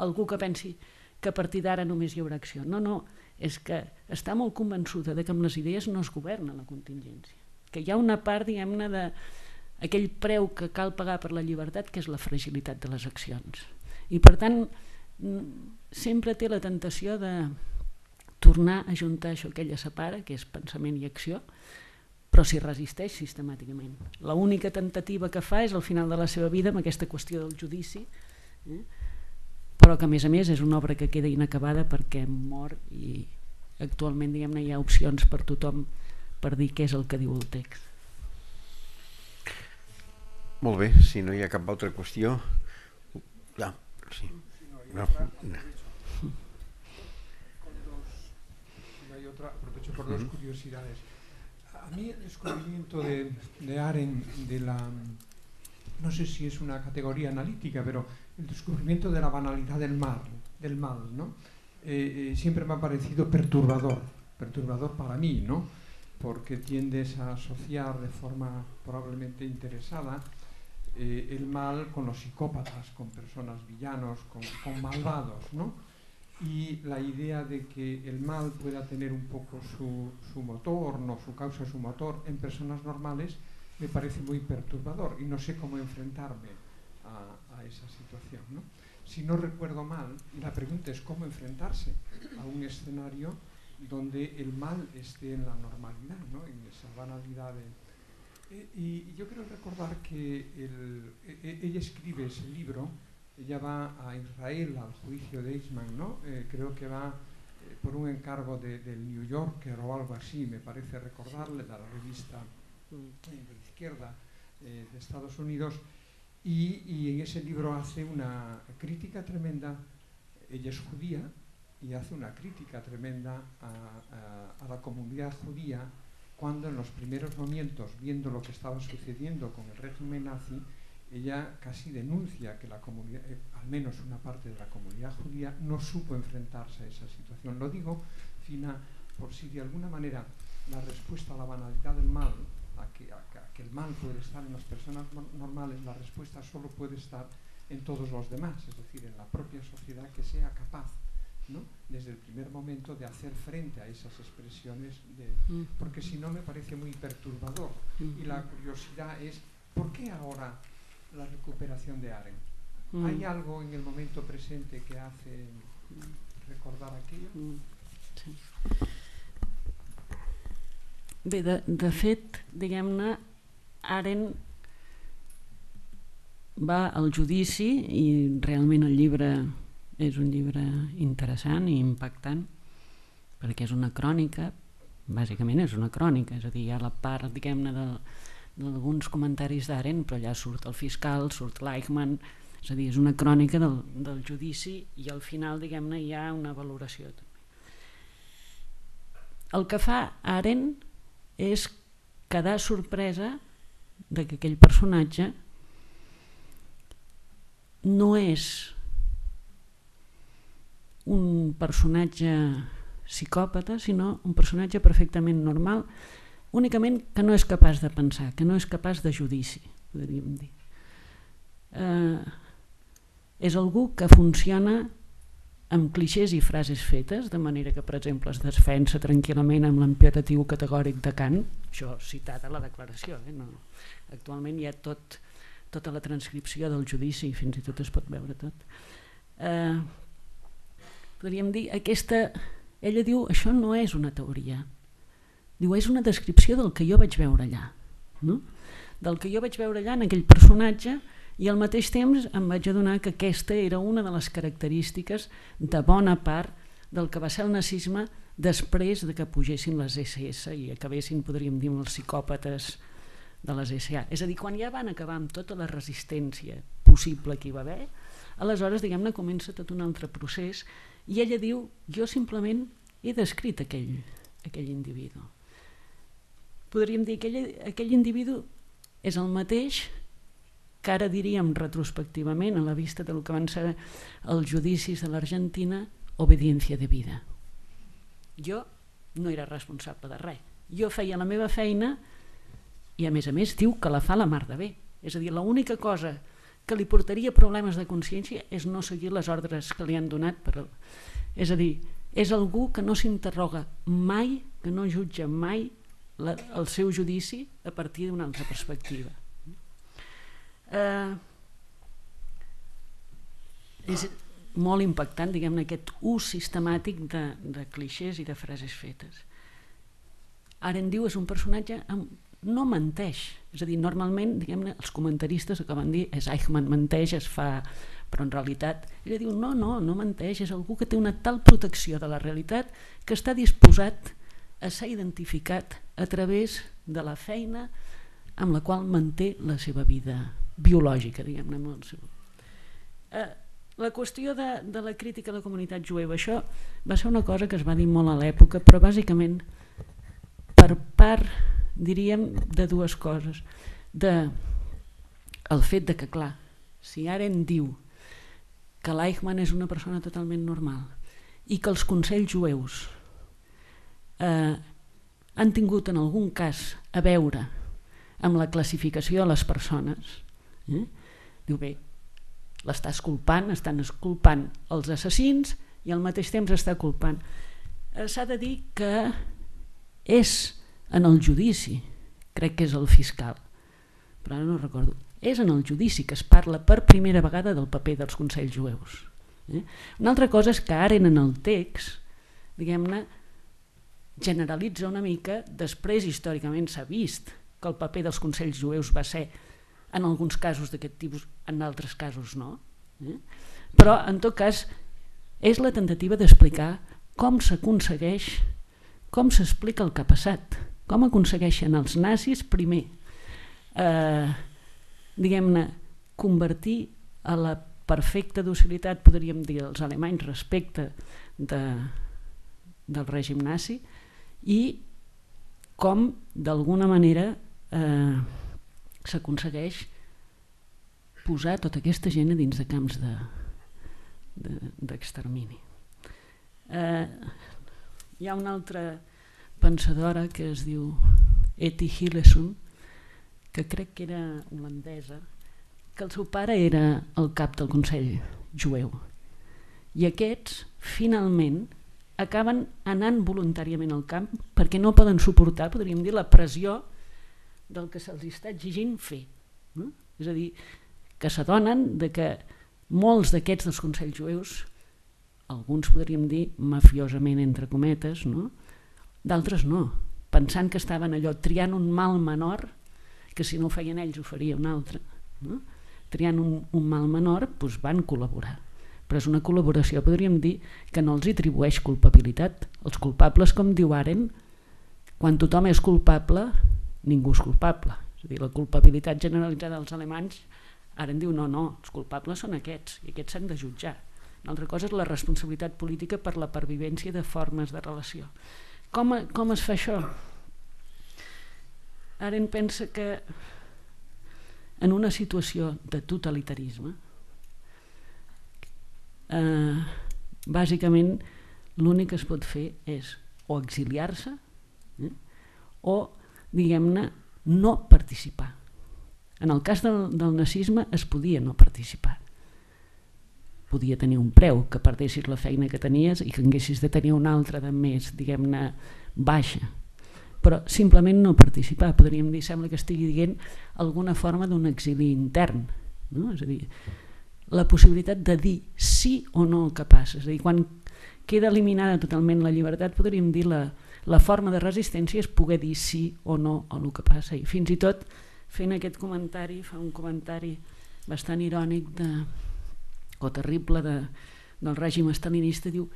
algú que pensi que a partir d'ara només hi haurà acció. No, és que està molt convençuda que amb les idees no es governa la contingència. Que hi ha una part, diguem-ne, d'aquell preu que cal pagar per la llibertat, que és la fragilitat de les accions. I per tant, sempre té la tentació de tornar a juntar això que ella separa, que és pensament i acció, però s'hi resisteix sistemàticament. L'única tentativa que fa és al final de la seva vida amb aquesta qüestió del judici, però que a més és una obra que queda inacabada perquè mor i actualment, diguem-ne, hi ha opcions per tothom per dir què és el que diu el text. Molt bé, si no hi ha cap altra qüestió. Ja, sí. No. Aprovecho por dos curiosidades. A mí el descubrimiento de Arendt de la, no sé si es una categoría analítica, pero el descubrimiento de la banalidad del mal, ¿no? Siempre me ha parecido perturbador para mí, ¿no? Porque tiendes a asociar de forma probablemente interesada el mal con los psicópatas, con personas villanos, con malvados, ¿no? Y la idea de que el mal pueda tener un poco su motor, no su causa, su motor en personas normales, me parece muy perturbador y no sé cómo enfrentarme a esa situación, ¿no? Si no recuerdo mal, y la pregunta es cómo enfrentarse a un escenario donde el mal esté en la normalidad, ¿no? En esa banalidad y yo quiero recordar que ella escribe ese libro. Ella va a Israel al juicio de Eichmann, ¿no? Creo que va por un encargo del New Yorker o algo así, me parece recordarle, de la revista de izquierda de Estados Unidos, y en ese libro hace una crítica tremenda. Ella es judía y hace una crítica tremenda a la comunidad judía cuando en los primeros momentos, viendo lo que estaba sucediendo con el régimen nazi, ella casi denuncia que la comunidad, al menos una parte de la comunidad judía, no supo enfrentarse a esa situación. Lo digo, Fina, por si de alguna manera la respuesta a la banalidad del mal, a que el mal puede estar en las personas normales, la respuesta solo puede estar en todos los demás, es decir, en la propia sociedad que sea capaz, ¿no?, desde el primer momento de hacer frente a esas expresiones, porque si no me parece muy perturbador. Y la curiosidad es, ¿por qué ahora la recuperación de Arendt? ¿Hay algo en el momento presente que hace recordar aquello? Sí. Bé, de fet, diguem-ne, Arendt va al judici i realment el llibre és un llibre interessant i impactant perquè és una crònica, bàsicament és una crònica, és a dir, hi ha la part, diguem-ne, d'alguns comentaris d'Arendt, però allà surt el fiscal, surt l'Eichmann, és a dir, és una crònica del judici i al final, diguem-ne, hi ha una valoració també. El que fa Arendt és quedar sorpresa de que aquell personatge no és un personatge psicòpata, sinó un personatge perfectament normal, únicament que no és capaç de pensar, que no és capaç de judici, podríem dir. És algú que funciona amb clixés i frases fetes, de manera que, per exemple, es defensa tranquil·lament amb l'imperatiu categòric de Kant, això citat a la declaració, no. Actualment hi ha tota la transcripció del judici, fins i tot es pot veure tot. Podríem dir, ella diu, això no és una teoria, diu, és una descripció del que jo vaig veure allà, no? Del que jo vaig veure allà en aquell personatge, i al mateix temps em vaig adonar que aquesta era una de les característiques de bona part del que va ser el nazisme després de que pugessin les SS i acabessin, podríem dir, amb els psicòpates de les SA. És a dir, quan ja van acabar amb tota la resistència possible que hi va haver, aleshores, diguem-ne, comença tot un altre procés i ella diu, jo simplement he descrit aquell individu. Podríem dir que aquell individu és el mateix que ara diríem retrospectivament a la vista del que van ser els judicis de l'Argentina, obediència de vida. Jo no era responsable de res. Jo feia la meva feina i a més diu que la fa la mar de bé. És a dir, l'única cosa que li portaria problemes de consciència és no seguir les ordres que li han donat. És a dir, és algú que no s'interroga mai, que no jutja mai el seu judici a partir d'una altra perspectiva. És molt impactant, diguem-ne, aquest ús sistemàtic de clixés i de frases fetes. Arendt diu és un personatge no menteix, és a dir, normalment, diguem-ne, els comentaristes acaben de dir és Eichmann menteix, però en realitat ella diu no menteix, és algú que té una tal protecció de la realitat que està disposat a ser identificat a través de la feina amb la qual manté la seva vida biològica, diguem-ne. La qüestió de la crítica a la comunitat jueva, això va ser una cosa que es va dir molt a l'època, però bàsicament per part, diríem, de dues coses. El fet de que, clar, si Arendt diu que l'Eichmann és una persona totalment normal i que els consells jueus han tingut en algun cas a veure amb la classificació de les persones, diu bé, l'estàs culpant, estan culpant els assassins i al mateix temps està culpant. S'ha de dir que és en el judici, crec que és el fiscal, però ara no recordo, és en el judici que es parla per primera vegada del paper dels consells jueus. Una altra cosa és que ara en el text, diguem-ne, generalitza una mica, després històricament s'ha vist que el paper dels consells jueus va ser en alguns casos d'aquest tipus, en altres casos no. Però, en tot cas, és la tentativa d'explicar com s'aconsegueix, com s'explica el que ha passat, com aconsegueixen els nazis, primer, diguem-ne, convertir a la perfecta docilitat, podríem dir, els alemanys respecte del règim nazi i com, d'alguna manera, s'aconsegueix posar tota aquesta gent a dins de camps d'extermini. Hi ha una altra pensadora que es diu Etty Hillesum, que crec que era holandesa, que el seu pare era el cap del Consell Jueu, i aquests finalment acaben anant voluntàriament al camp perquè no poden suportar, podríem dir, la pressió del que se'ls està exigint fer, no? És a dir, que s'adonen de que molts d'aquests dels consells jueus, alguns podríem dir mafiosament entre cometes, no? D'altres no, pensant que estaven allò triant un mal menor, que si no ho feien ells ho faria un altre, no? Triant un mal menor, doncs van col·laborar, però és una col·laboració, podríem dir, que no els atribueix culpabilitat. Els culpables, com diu Arendt, quan tothom és culpable, ningú és culpable. És a dir, la culpabilitat generalitzada dels alemanys, Arendt diu no, els culpables són aquests, i aquests s'han de jutjar. Una altra cosa és la responsabilitat política per la pervivència de formes de relació. Com es fa això? Arendt pensa que en una situació de totalitarisme, bàsicament l'únic que es pot fer és o exiliar-se o, diguem-ne, no participar. En el cas del nazisme es podia no participar. Podia tenir un preu, que perdessis la feina que tenies i que haguessis de tenir una altra de més, diguem-ne, baixa. Però simplement no participar, podríem dir, sembla que estigui dient alguna forma d'un exili intern, no? És a dir, la possibilitat de dir sí o no el que passa. És a dir, quan queda eliminada totalment la llibertat, podríem dir la forma de resistència és poder dir sí o no a el que passa. I fins i tot, fent aquest comentari, fa un comentari bastant irònic o terrible del règim estalinista, diu,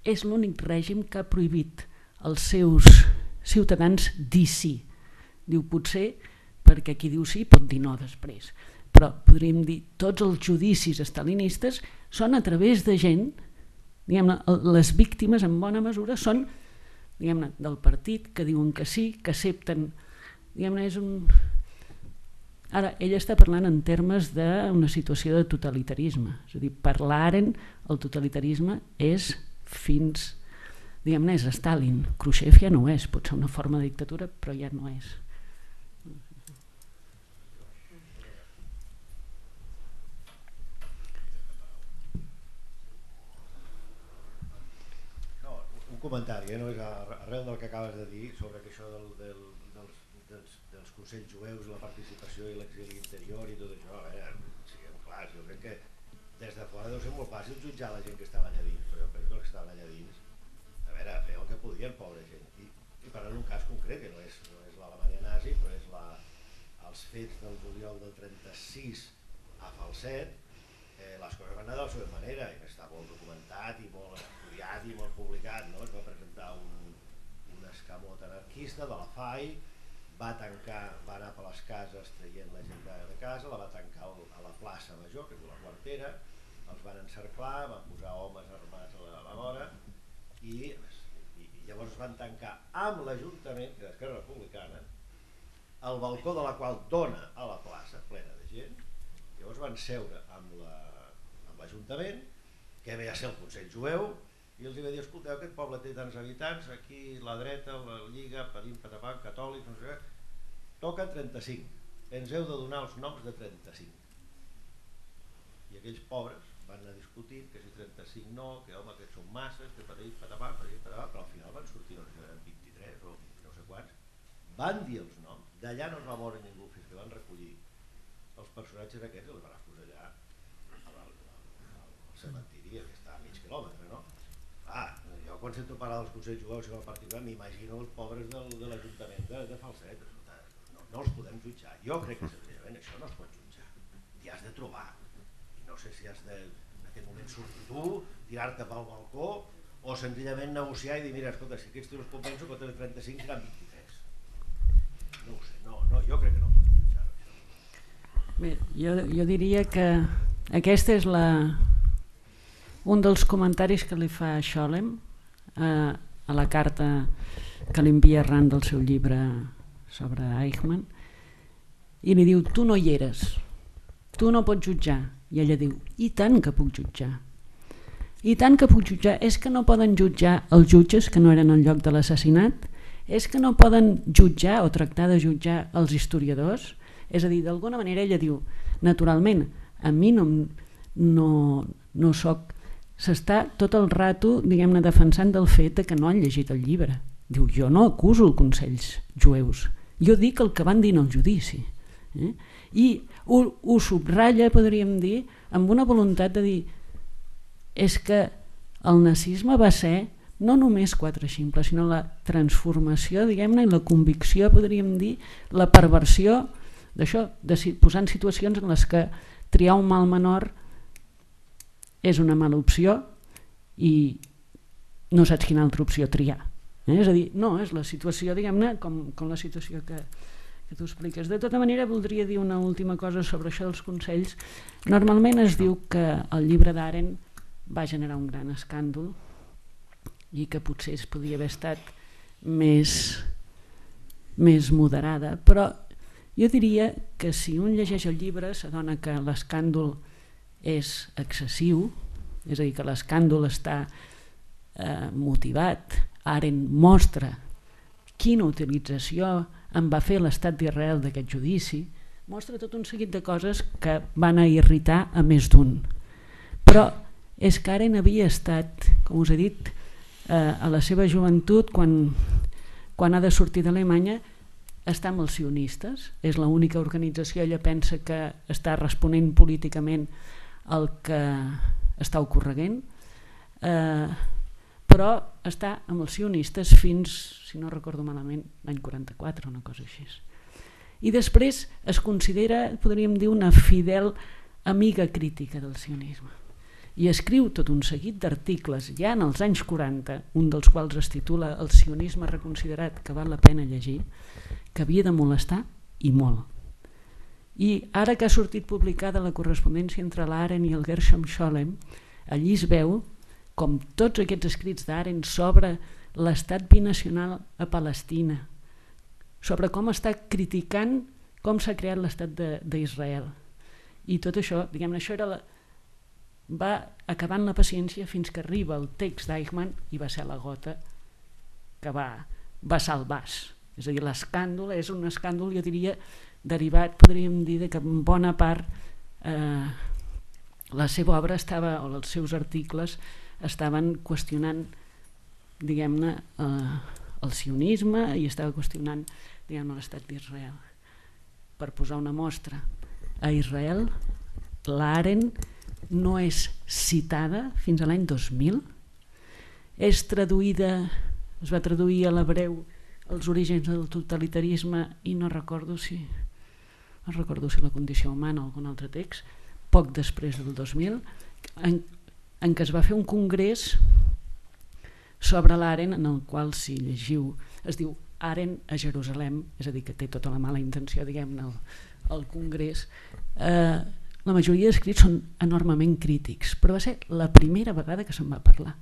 és l'únic règim que ha prohibit als seus ciutadans dir sí. Diu, potser perquè qui diu sí pot dir no després. Però podríem dir, tots els judicis estalinistes són a través de gent, diguem-ne, les víctimes en bona mesura són, diguem-ne, del partit, que diuen que sí, que accepten, diguem-ne, és un... Ara, ella està parlant en termes d'una situació de totalitarisme, és a dir, per l'Arendt el totalitarisme és fins, diguem-ne, és Stalin. Khrushchev ja no és, pot ser una forma de dictadura, però ja no és. Un comentari, no? És arrel del que acabes de dir sobre que això dels consells jueus, la participació i l'exili interior i tot això, a veure, siguem clars, jo crec que des de fora deu ser molt fàcil jutjar la gent que estava allà dins, però jo penso que els que estaven allà dins, a veure, feien el que podien, pobra gent, i parlant d'un cas concret, que no és l'Alemanya nazi, però és els fets del juliol del 36 a Falset, les coses van anar de la seva manera, i està molt documentat i molt estudiat i molt publicat, no? Es va presentar un escamot anarquista de la FAI, va anar per les cases traient la gent de casa, la va tancar a la plaça Major, que és la quartera, els van encerclar, van posar homes armats a la vora i llavors van tancar amb l'Ajuntament, que és d'Esquerra Republicana, el balcó de la qual dona a la plaça, plena de gent. Llavors van seure amb l'Ajuntament, que ve a ser el Consell Jueu, i els va dir, escolteu, aquest poble té tants habitants, aquí la dreta, la Lliga, Padim, Patapam, Catòlics, no sé què, toquen 35, ens heu de donar els noms de 35. I aquells pobres van anar discutint que si 35 no, que home, que són masses, que Padim, Patapam, però al final van sortir, no sé, 23 o no sé quants, van dir els noms, d'allà no es va moure ningú fins que van recollir els personatges aquests i els van posar allà al cementiri, que està a mig quilòmetre, no? Jo quan sento parlar dels consells jueus i del particular m'imagino els pobres de l'Ajuntament de Falset. No els podem jutjar. Jo crec que senzillament això no es pot jutjar. I has de trobar. I no sé si has de, en aquest moment, sortir tu, tirar-te pel balcó o senzillament negociar i dir, mira, escolta, si aquests teus compenso, que de 35 seran 23. No ho sé, jo crec que no podem jutjar. Bé, jo diria que aquesta és un dels comentaris que li fa Scholem a la carta que li envia arran del seu llibre sobre Eichmann, i li diu, tu no hi eres, tu no pots jutjar. I ella diu, i tant que puc jutjar. I tant que puc jutjar. És que no poden jutjar els jutges que no eren al lloc de l'assassinat? És que no poden jutjar o tractar de jutjar els historiadors? És a dir, d'alguna manera ella diu, naturalment, a mi no soc... S'està tot el rato, diguem-ne, defensant del fet que no han llegit el llibre. Diu, jo no acuso els consells jueus, jo dic el que van dir en el judici. I ho subratlla, podríem dir, amb una voluntat de dir és que el nazisme va ser no només quatre ximples, sinó la transformació, diguem-ne, i la convicció, podríem dir, la perversió d'això, de posar en situacions en les que triar un mal menor és una mala opció i no saps quina altra opció triar. És a dir, no, és la situació, diguem-ne, com la situació que tu expliques. De tota manera, voldria dir una última cosa sobre això dels consells. Normalment es diu que el llibre d'Arendt va generar un gran escàndol i que potser es podia haver estat més moderada, però jo diria que si un llegeix el llibre s'adona que l'escàndol és excessiu, és a dir, que l'escàndol està motivat. Arendt mostra quina utilització en va fer l'estat d'Israel d'aquest judici, mostra tot un seguit de coses que van a irritar a més d'un. Però és que Arendt havia estat, com us he dit, a la seva joventut, quan ha de sortir d'Alemanya, està amb els sionistes, és l'única organització, ella pensa que està responent políticament el que està ocorreguent, però està amb els sionistes fins, si no recordo malament, l'any 44, una cosa així. I després es considera, podríem dir, una fidel amiga crítica del sionisme. I escriu tot un seguit d'articles ja en els anys 40, un dels quals es titula El sionisme reconsiderat, que val la pena llegir, que havia de molestar i molt. I ara que ha sortit publicada la correspondència entre l'Arendt i el Gershom Scholem, allí es veu com tots aquests escrits d'Arendt sobre l'estat binacional a Palestina, sobre com està criticant com s'ha creat l'estat d'Israel. I tot això, diguem-ne, això va acabant la paciència fins que arriba el text d'Eichmann i va ser la gota que va salvar. És a dir, l'escàndol és un escàndol, jo diria, derivat, podríem dir, que en bona part la seva obra estava, o els seus articles estaven qüestionant, diguem-ne, el sionisme i estava qüestionant, diguem-ne, l'estat d'Israel. Per posar una mostra, a Israel l'Arendt no és citada fins a l'any 2000, és traduïda, es va traduir a l'hebreu Els orígens del totalitarisme i no recordo si la condició humana o algun altre text, poc després del 2000, en què es va fer un congrés sobre l'Arendt, en el qual, si llegiu, es diu Arendt a Jerusalem, és a dir, que té tota la mala intenció, diguem-ne, al congrés. La majoria d'escrits són enormement crítics, però va ser la primera vegada que se'n va parlar.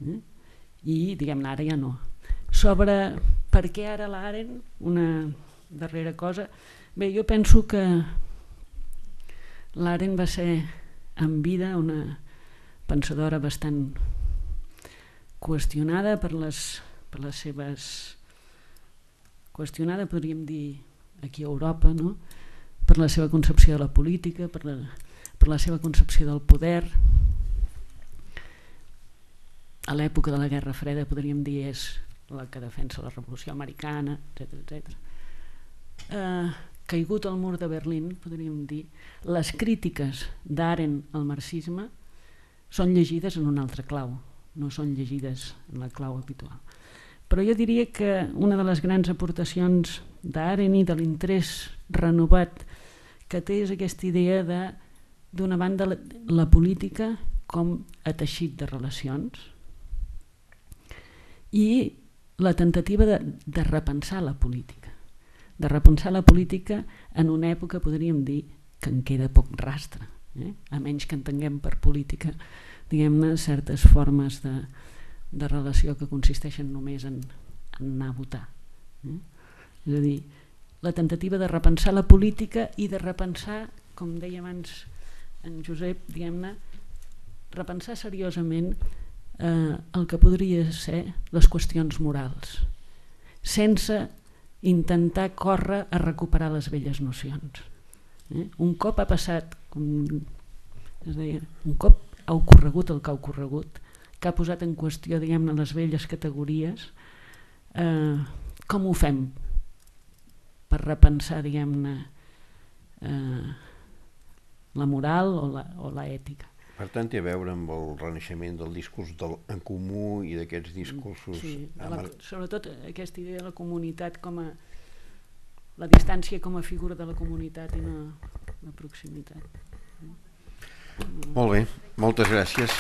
I, diguem-ne, ara ja no. Sobre per què ara l'Arendt, una darrera cosa, bé, jo penso que l'Arendt va ser en vida una pensadora bastant qüestionada per les seves... qüestionada, podríem dir, aquí a Europa, no? Per la seva concepció de la política, per la seva concepció del poder. A l'època de la Guerra Freda, podríem dir, és la que defensa la Revolució Americana, etc. Caigut el mur de Berlín, podríem dir, les crítiques d'Arendt al marxisme són llegides en una altra clau, no són llegides en la clau habitual. Però jo diria que una de les grans aportacions d'Arendt i de l'interès renovat que té és aquesta idea d'una banda la política com a teixit de relacions i la tentativa de repensar la política, en una època, podríem dir, que en queda poc rastre, a menys que entenguem per política, diguem-ne, certes formes de relació que consisteixen només en anar a votar. És a dir, la tentativa de repensar la política i de repensar com deia abans en Josep, diguem-ne, repensar seriosament el que podria ser les qüestions morals, sense intentar córrer a recuperar les velles nocions. Un cop ha passat, es deia, un cop ha ocorregut el que ha ocorregut, que ha posat en qüestió, diguem-ne, les velles categories, com ho fem per repensar, diguem-ne, la moral o l'ètica? Per tant, té a veure amb el renaixement del discurs en comú i d'aquests discursos... Sí, sobretot aquesta idea de la comunitat com a... la distància com a figura de la comunitat i no la proximitat. Molt bé, moltes gràcies.